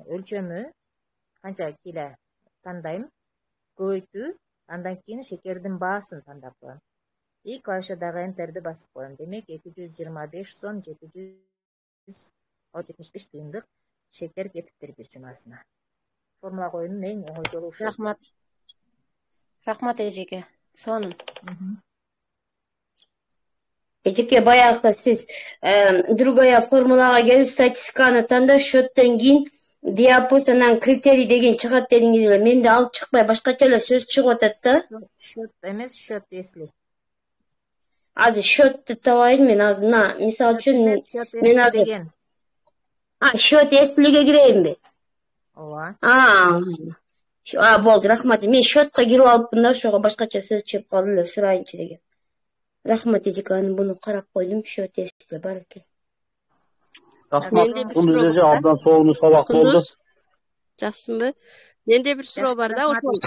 өлчөмү канча кило тандайм, көбөйтүү, андан кийин шекердин баасын тандап коем. И клавишадагы энтерди басып коем. Демек 225 сом 775 тыйындык шекер кетиптир бир жумасына. Формула коюунун эң оңой жолу ушул. Рахмат. Рахмат эжеке. Сонун. Эжеке, баягы сиз другая формулага келип статистиканы тандап, счеттен кийин диапоз анан критерий деген чыгат дедиңиз эле. Менде алып чыкпай башкача эле сөз чыгып атат да. Счет эмес, счет если. Азыр счетты табайын мен азыр. Мына мисалы үчүн мен азыр счет эслиге кирейинби? Ооба. Болду, рахмат. Мен счетко кирип алыпмын да, ошого башкача сөз чыгып калды эле, сурайынчы деген. Рахмат эжеке, аны буну карап койдум, счет эсли бар экен. Рахмат. Кундуз эже абдан сонун сабак болду. Жакшысыңбы? Менде бир суроо бар да, ошол.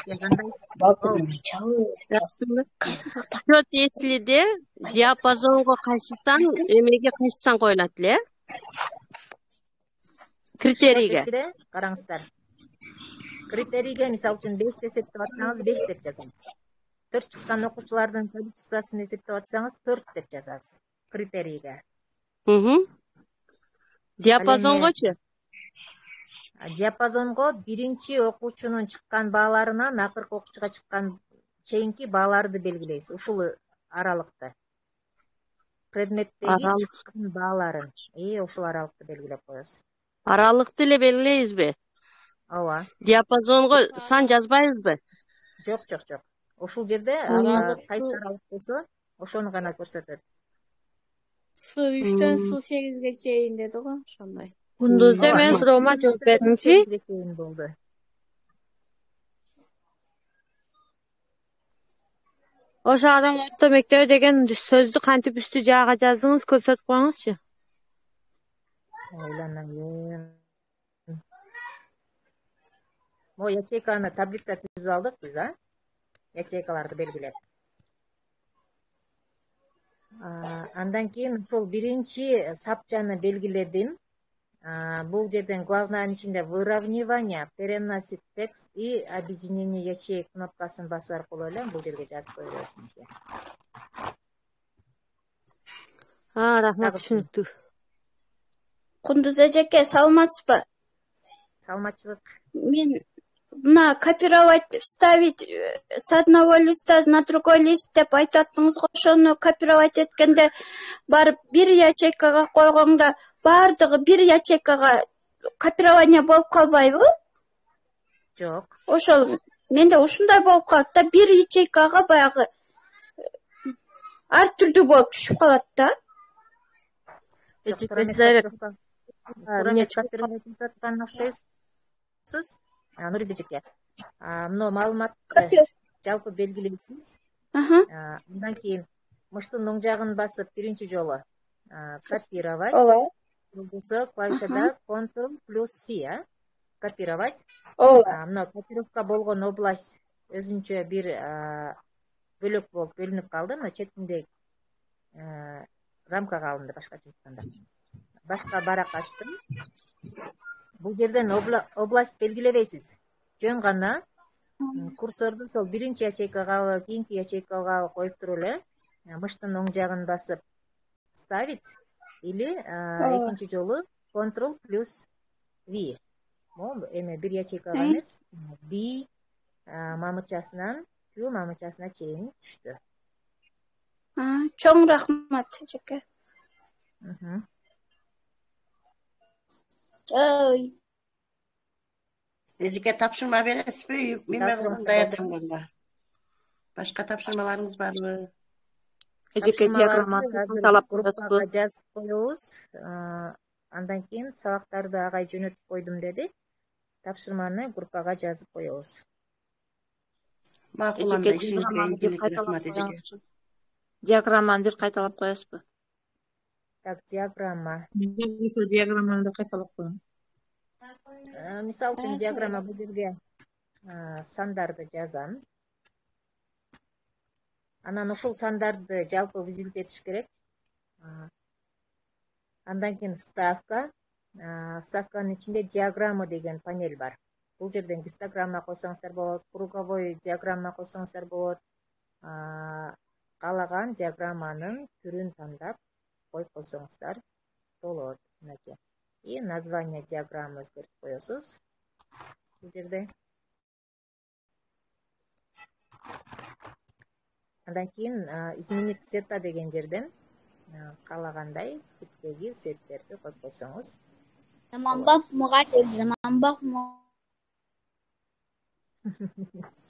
Жакшысыңбы? Счет эслиде диапазонго кайсыдан эмеге кайсыдан коюлат эле? Критерийге. Караңыздар. Критерийге мисалы үчүн 5 деп эсептеп атсаңыз 5 деп жазасыз. 4 чыккан окуучулардын количествосын эсептеп атсаңыз 4 деп жазасыз. Критерийге. Диапазонгочу? Диапазонго биринчи окуучунун чыккан бааларынан акыркы окуучуга чыккан чейинки бааларды белгилейсиз. Ушул аралыкты. Предметтеги чыккан бааларын. Ушул аралыкты белгилеп коесуз. Аралыкты эле белгилейбизби? Ооба. Диапазонго сан жазбайбызбы? Жок. Ушул жерде кайсы аралык болсо, ошону гана көрсөтөт. S3төн S8ге чейин деди го, ошондой. Кундуз мен суроома жооп бердимчи. Ошо Арал орто мектеби деген сөздү кантип үстү жаага жаздыңыз, көрсөтүп коюңузчу. Ойланайын. Мо ячейканы таблица түзүп алдык биз, ячейкаларды белгилеп. Андан кийин ошол биринчи сапчаны белгиледим. Бул жерден главныйнын ичинде выравнивание, переносить текст и объединение ячеек кнопкасын басуу аркылуу эле бул жерге жазып кое бересиңиз. Рахмат, түшүнүктүү. Кундуз эжеке, саламатсызбы? Саламатчылык. Мен мына копировать вставить с одного листа на другой лист деп айтып аттыңыз го, ошону копировать эткенде барып бир ячейкага койгоңда баардыгы бир ячейкага копирование болуп калбайбы? Жок. Ошол менде ушундай болуп калат да, бир ячейкага баягы ар түрдүү болуп түшүп калат да. Нуриз эжеке, мына маалыматты жалпы белгилейсиз. Андан кийин мыштын оң жагын басып биринчи жолу копировать. Болсо клавишада Ctrl плюс C, копировать. Мына копировка болгон область өзүнчө бир бөлөк болуп бөлүнүп калды. Мына четинде рамкага алынды, башкача айтканда. Башка барак ачтым. Бул жерден область белгилебейсиз. Жөн гана курсорду сол биринчи ячейкага, кийинки ячейкага коюп туруп эле мыштын оң жагын басып ставить или экинчи жолу Ctrl плюс V. Могу эме бир ячейкага эмес, B мамычасынан Q мамычасына чейин түштү. Чоң рахмат эжеке. Эжеке тапшырма бересизби? Мен менен даярданганга. Башка тапшырмаларыңыз барбы? Эжеке диаграмманы талап коесузбу? Жазып коебуз. Андан кийин сабактарды агай жөнөтүп койдум деди. Тапшырманы группага жазып коебуз. Макул, анда ишиңизге ийгилик, рахмат эжеке. Диаграмманы бир кайталап коесузбу? Так, диаграмма. Ошо диаграмманы да кайталап коем. Мисалы үчүн диаграмма бул жерге сандарды жазам. Анан ушул сандарды жалпы визит этиш керек. Андан кийин ставка. Ставканын ичинде диаграмма деген панель бар. Бул жерден гистограмма койсоңуздар болот, круговой диаграмма койсоңуздар болот. Каалаган диаграмманын түрүн тандап коюп койсоңуздар болот. Мынакей. И название диаграммы өзгөртүп коесуз. Бул жерде. Андан кийин изменить цвета деген жерден каалагандай типтеги цветтерди коюп койсоңуз. Заманбап мугалим, заманбап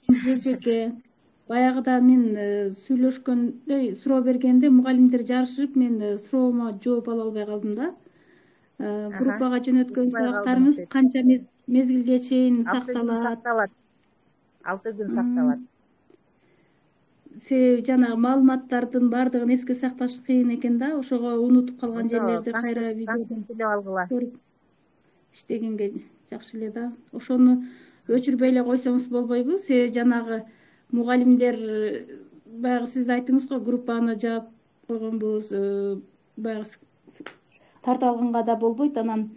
эжеке, баягыда мен сүйлөшкөндө, суроо бергенде мугалимдер жарышып, мен суроомо жооп ала албай калдым да. Группага жөнөткөн сабактарыңыз канча мезгилге чейин сакталат? 6 күн сакталат. Жанагы маалыматтардын баардыгын эске сакташ кыйын экен да, ошого унутуп калган жерлерди кайра видеодон көрүп иштегенге жакшы эле да. Ошону өчүрбөй эле койсоңуз болбойбу? Жанагы мугалимдер баягы сиз айттыңыз го, группаны жаап койгонбуз, баягы тартып алганга да болбойт, анан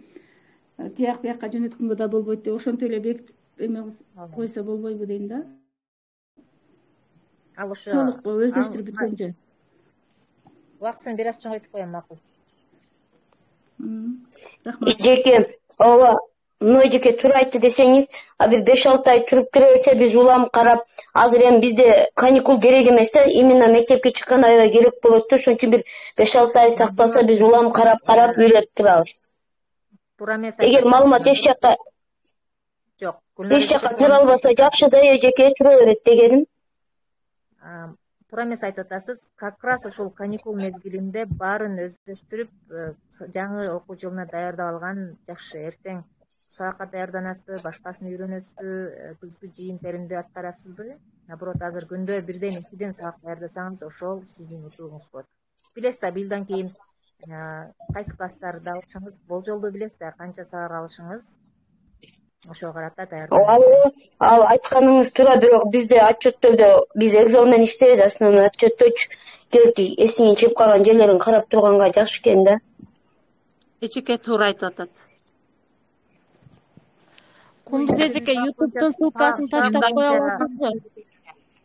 тияк бияка жөнөткөнгө да болбойт деп ошентип эле бекитип эме койсо болбойбу дейм да. Ал ошо толук өздөштүрүп бүткөнчө. Убактысын бир аз чоңойтуп коем, макул. Рахмат. Эжеке, ооба, эжеке туура айтты десеңиз, бир 5-6 ай туруп кире берсе биз улам карап, азыр эми бизде каникул керек эмес да, именно мектепке чыккан аябай керек болот да, ошон үчүн бир 5-6 ай сакталса биз улам карап үйлөп турабыз. Туура эмес. Эгер маалымат эч жакка кире албаса жакшы да эжеке, тура берет дегеним. Туура эмес айтып атасыз. Как раз ушул каникул мезгилинде баарын өздөштүрүп, жаңы окуу жылына даярдап алган жакшы. Эртең сабакка даярданасызбы, башкасын үйрөнөсүзбү, күзгү жыйын-теримди аткарасызбы? Наоборот, азыр күндө 1-2 сабак даярдасаңыз, ошол сиздин утугуңуз болот. Билесиз да, быйылдан кийин кайсы класстарды алышыңыз, болжолду билесиз да, канча сабак алышыңыз. Ошого карата даярданасыз. Ал айтканыңыз туура, бирок бизде отчеттодо биз экзамен менен иштейбиз, основной отчетточу келти эсиңен чыгып калган жерлерин карап турганга жакшы экен да. Эжеке туура айтып атат. Кундуз эжеке, YouTube'тун ссылкасын таштап коя аласызбы?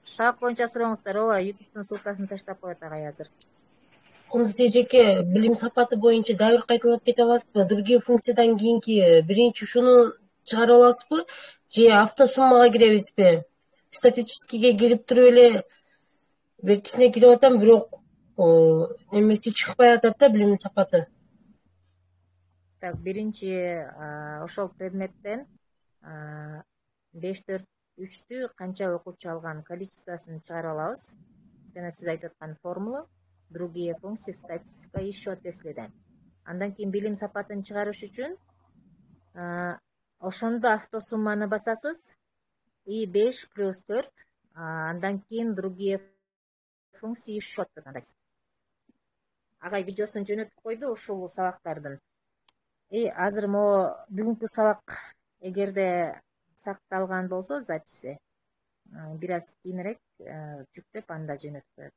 Сабак боюнча сурооңуздар, ооба, YouTube'тун ссылкасын таштап коет агай азыр. Кундуз эжеке, билим сапаты боюнча дагы бир кайталап кете аласызбы? Другие функциядан кийинки биринчи ушуну чыгарып аласызбы же автосуммага киребизби? Статистикага кирип туруп эле белгисине кирип атам, бирок эмеси чыкпай атат да, билимдин сапаты. Так, биринчи ошол предметтен 5-4-3-тү канча окуучу алган количествосын чыгарып алабыз. Жана сиз айтып аткан формула, другие функции, статистика и счет если. Андан кийин билим сапатын чыгарыш үчүн ошондо автосумманы басасыз и 5 плюс 4, андан кийин другие функции и счет деп атайсыз. Агай видеосун жөнөтүп койду ушул сабактардын. Азыр могу бүгүнкү сабак эгерде сакталган болсо записи бир аз кийинирээк жүктөп анда жөнөтүп коет.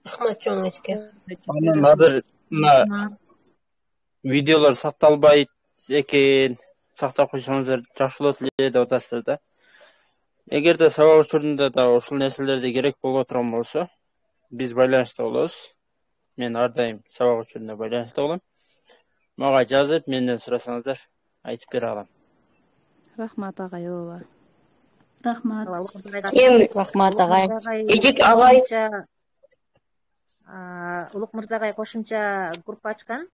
Рахмат чоң эчке. Анан азыр мына видеолор сакталбайт экен, сактап койсоңуздар жакшы болот эле деп атасыздар да. Эгерде сабак учурунда да ушул нерселерди керек болуп турган болсо, биз байланышта болобуз. Мен ар дайым сабак учурунда байланышта болом. Мага жазып, менден сурасаңыздар, айтып бере алам. Рахмат агай, ооба. Рахмат. Рахмат агай. Эжек агай Улук мырза агай кошумча группа ачкан.